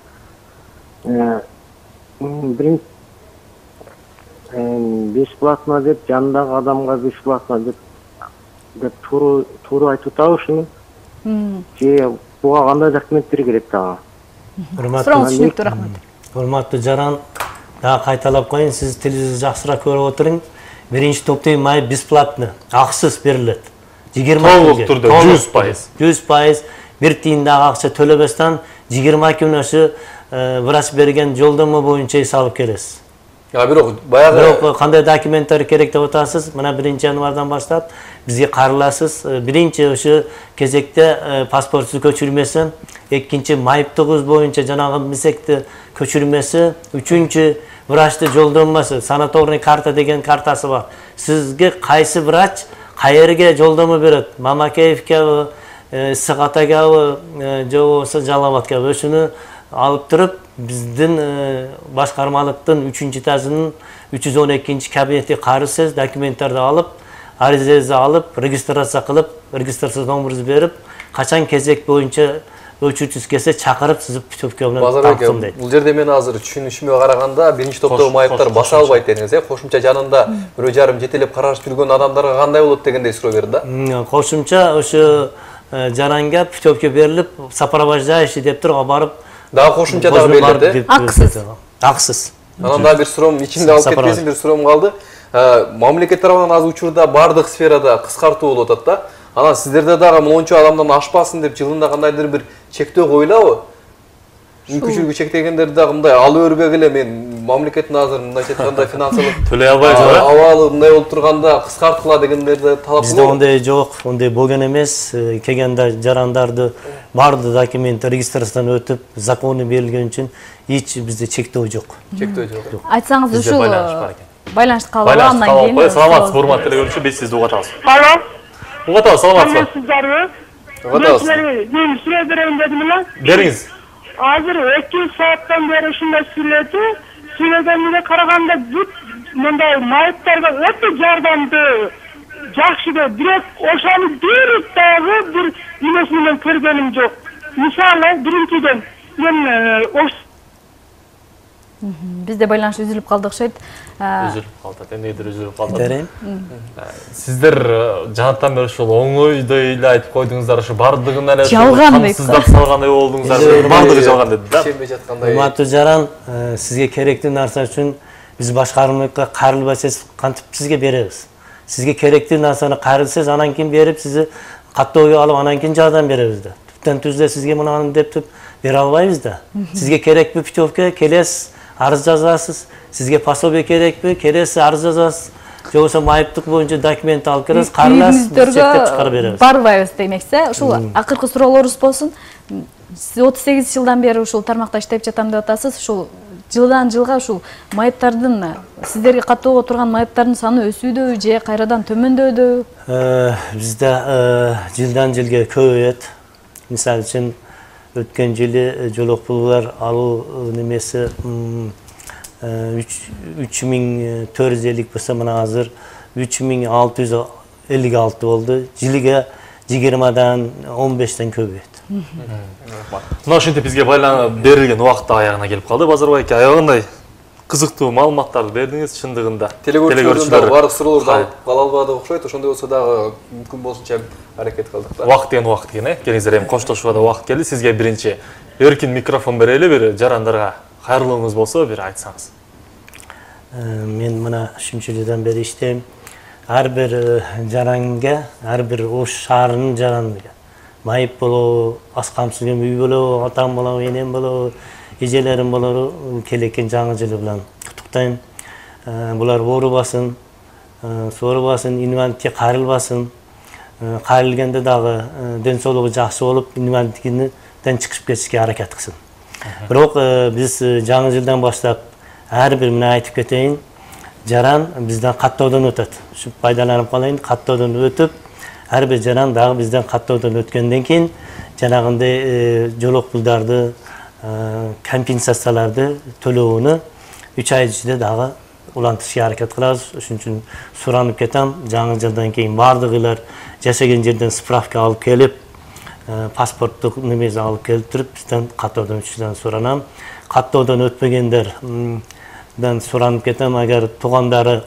Бесплатно деп, жандагы адамга бесплатно деп туура айтып атабы ушуну? Же буга кандай документтер керек дагы?
Сурооңуз түшүнүктүү, рахмат.
Урматтуу жаран, дагы кайталап коеюн, сиз телевизор жакшыраак көрүп отуруң. 1-топтогу майып бесплатно, акысыз берилет. 20
толук түрдө 100%.
100%, бир тиын дагы акча төлөбөстөн 20 күн ошо врач берген жолдомо боюнча эс алып келесиз.
Бирок баягы
кандай документтер керек деп атасыз? Мына 1-январдан баштап бизге карыласыз. Биринчи ошо кезекте паспортсуз көчүрмөсү, экинчи майыптыгыбыз боюнча жанагы мисекти көчүрмөсү, үчүнчү врачты жолдомасы, санаторный карта деген картасы бар. Сизге кайсы врач кайерге жолдомо берет? Мамакеевке, Сыгатагабы, же болбосо Жалалабадкабы, ошону алып туруп биздин башкармалыктын 3-этажынын 312 кабинети карысыз, документтерди алып, аризаңызды алып, регистрация кылып, регистрация номеріңізді беріп, качан кезек боюнча өчүүчүсү келсе чакырып сиз путевка менен тактымдайт.
Бул жерде мен азыр түшүнүшүмө караганда биринчи топтогу майыптар баса албайт дедиңиз, кошумча жанында 1,5 жетелеп карашып жүргөн адамдарга кандай болот дегендей суроо берди да.
Кошумча ошо жаранга путевка берилип, сопровождающий деп туруп барып,
дагы кошумча дагы берилди.
Акысыз. Акысыз.
Анан дагы бир суроом ичимде алып кетпесин, бир суроом калды. Мамлекет тарабынан азыр учурда бардык сферада кыскартуу болуп атат да. Анан сиздерде дагы мончо адамдан ашпасын деп жылында кандайдыр бир чектөө коюлабы? Мүмкүнчүлүгү чектегендерди дагы мындай алып өрбөгүлө мен мамлекеттин азыр мындайча айтканда финансылык
төлөй албайт,
абалы мындай болуп турганда кыскарткыла дегендерди талап
кылып. Бизде ондой жок, ондой болгон эмес. Келгенде жарандарды бардык документ регистрациядан өтүп, закону берилген үчүн эч бизде чектөө жок.
Чектөө жок.
Айтсаңыз ушул байланышты калып андан кийин.
Саламатсызбы, урматтуу телеөрүүчү, биз сизди угатабыз.
Алло.
Угатабыз, саламатсызбы?
Угатабыз.
Мен сүрө берем дедим эле.
Бериңиз.
Азыр 2 сааттан бери ушундай сүйлөгөнүнө караганда бүт мындай майыптарга өтө жардамдуу, жакшы да, бирок ошону бир дагы бир эмеси менен
көргөнүм жок. Мисалы биринчиден мен
Бизде байланыш үзүлүп калды окшойт.
Үзүлүп калды. Эмнедир үзүлүп калды. Сиздер жанаттан бери ушул оңойдой эле айтып койдуңуздар, ушу бардыгын эле камсыздап салгандай болдуңуздар. Бардыгы жалган деди да.
Ишенбей жаткандай.
Урматтуу жаран, сизге керектүү нарса үчүн биз башкармалыкка кайрылбасаңыз кантип сизге беребиз. Сизге керектүү нарсаны кайрылсаңыз анан кийин берип, сизди каттоого алып анан кийин жардам беребиз да. Түптөн түздө сизге мынаны деп бере албайбыз да. Сизге керекпи путевка, келесиз, арыз жазасыз. Сизге пособие керекпи, келесиз, арыз жазасыз. Же болбосо майыптык боюнча документ алып келесиз, караласыз, чектеп чыгарып беребиз.
Барбайбыз демексиз. Ушул акыркы суроолорубуз болсун. Сиз 38 жылдан бери ушул тармакта иштеп жатам деп атасыз. Ушул жылдан жылга ушул майыптардын сиздерге каттоого турган майыптардын саны өсүүдө же кайрадан төмөндөдү?
Бизде жылдан жылга көбөйөт. Мисалы үчүн өткөн жылы жолокпулдар алуу немеси 3450 болсо мына азыр 3656 болду. Жылга 20-дан 15-тен көбөйөт.
Мына ошентип бизге берилген убакыт аягына келип калды. Базарбай эке, аягындай кызыктуу маалыматтарды бердиңиз чындыгында.
Телегөрчүлөрдөн баардык суроолорду алып кала албадык окшойт. Ошондой болсо дагы мүмкүн болсунча аракет кылдык да.
Убакыт экен, келиңиздер, эми коштошууга да убакыт келди. Сизге биринчи эркин микрофон берели, бир жарандарга кайрылууңуз болсо бир айтсаңыз.
Мен мына 3-жылдан бери иштейм. Ар бир жаранга, ар бир Ош шаарынын жаранына майып болобу, аз камсызген үй болобу, атам болобу, энем болобу, эжелерим болобу, келекен жаңы жылы менен куттуктайм. Булар оорубасын, соорубасын, инвалидке кайрылбасын. Кайрылгенде дагы ден соолугу жакшы болуп, инвалидтигинен чыгып кетишке аракет кылсын. Бирок биз жаңы жылдан баштап ар бир мына айтып кетейин, жаран бизден каттоодон өтөт. Ушу пайдаланып калайын, каттоодон өтүп, ар бир жаран дагы бизден каттоодон өткөндөн кийин жанагындай жолокпулдарды, компенсацияларды төлөөнү 3 ай ичинде дагы улантышка аракет кылабыз. Ошон үчүн суранып кетем, жаңы жылдан кийин бардыгылар жашаган жерден справка алып келип, паспорттук немеси алып келип туруп, бизден каттоодон өтүшүн суранам. Каттоодон өтпөгөндөрдөн суранып кетем, агар туугандары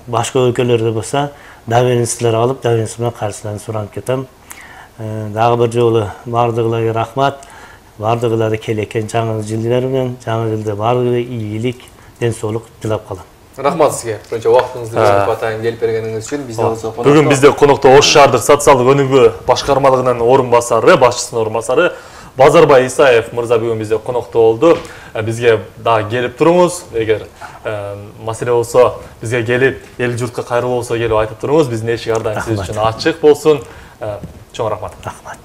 башка өлкөлөрдө болсо, доверенностьтер алып, доверенность менен кайрылышын суранып кетем. Дагы бир жолу бардыгыларга рахмат. Бардыгылары келекен жаңы жылдар менен, жаңы жылда бардыгы ийгилик, ден соолук тилеп калам.
Рахмат сизге. Ошончо убактыңызды бөлүп атайын келип бергениңиз үчүн.
Бүгүн бизде конокто Ош шаардык социалдык өнүгүү башкармалыгынын орун басары, башчысынын орун басары Базарбай Исаев мырза бүгүн бизде конокто болду. Бизге дагы келип туруңуз. Эгер маселе болсо, бизге келип, эл журтка кайрылуу болсо келип айтып туруңуз. Биздин эшик ар дайым сиз үчүн ачык болсун. Чоң рахмат.
Рахмат.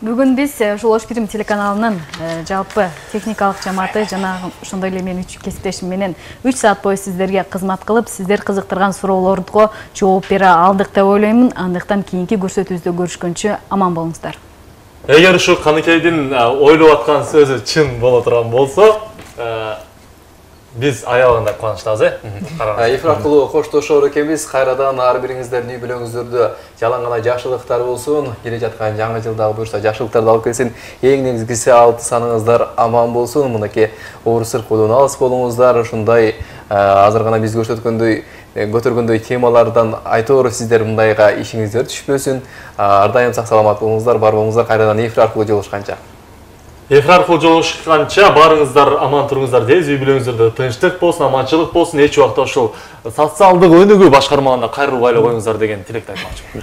Бүгүн биз ушул Ош Пирим телеканалынын жалпы техникалык жамааты жана ошондой эле мен кесиптешим менен 3 саат бою сиздерге кызмат кылып, сиздер кызыктырган суроолорго жооп бере алдык деп ойлоймун. Андыктан кийинки көрсөтүүбүздө көрүшкөнчө аман болуңуздар.
Эгер ушу Каныкейдин ойлоп аткан сөзү чын боло турган болсо, биз аябагында кубанычтабыз,
Эфир аркылуу коштошор экенбиз. Кайрадан ар бириңиздердин үй бүлөңүздөрдө жалаң гана жакшылыктар болсун. Келе жаткан жаңы жылдагы буюрса жакшылыктарды алып келсин. Эң негизгиси алты саныңыздар аман болсун. Мынакей оор сыркуудан алыс болуңуздар. Ушундай азыр гана биз көтөргөндөй темалардан айтор сиздер мындайга ишиңиздер түшпөсүн. Ар дайым сак саламат болуңуздар, бар болуңуздар. Кайрадан эфир аркылуу жолугушканча.
Эфир аркылуу жолугушканча барыңыздар аман туруңуздар дейбиз. Үй бүлөңүздөрдө тынчтык болсун, аманчылык болсун. Эч убакта ошол социалдык өнүгүү башкармаларына кайрылбай эле коюңуздар деген тилекти айтмакчымын.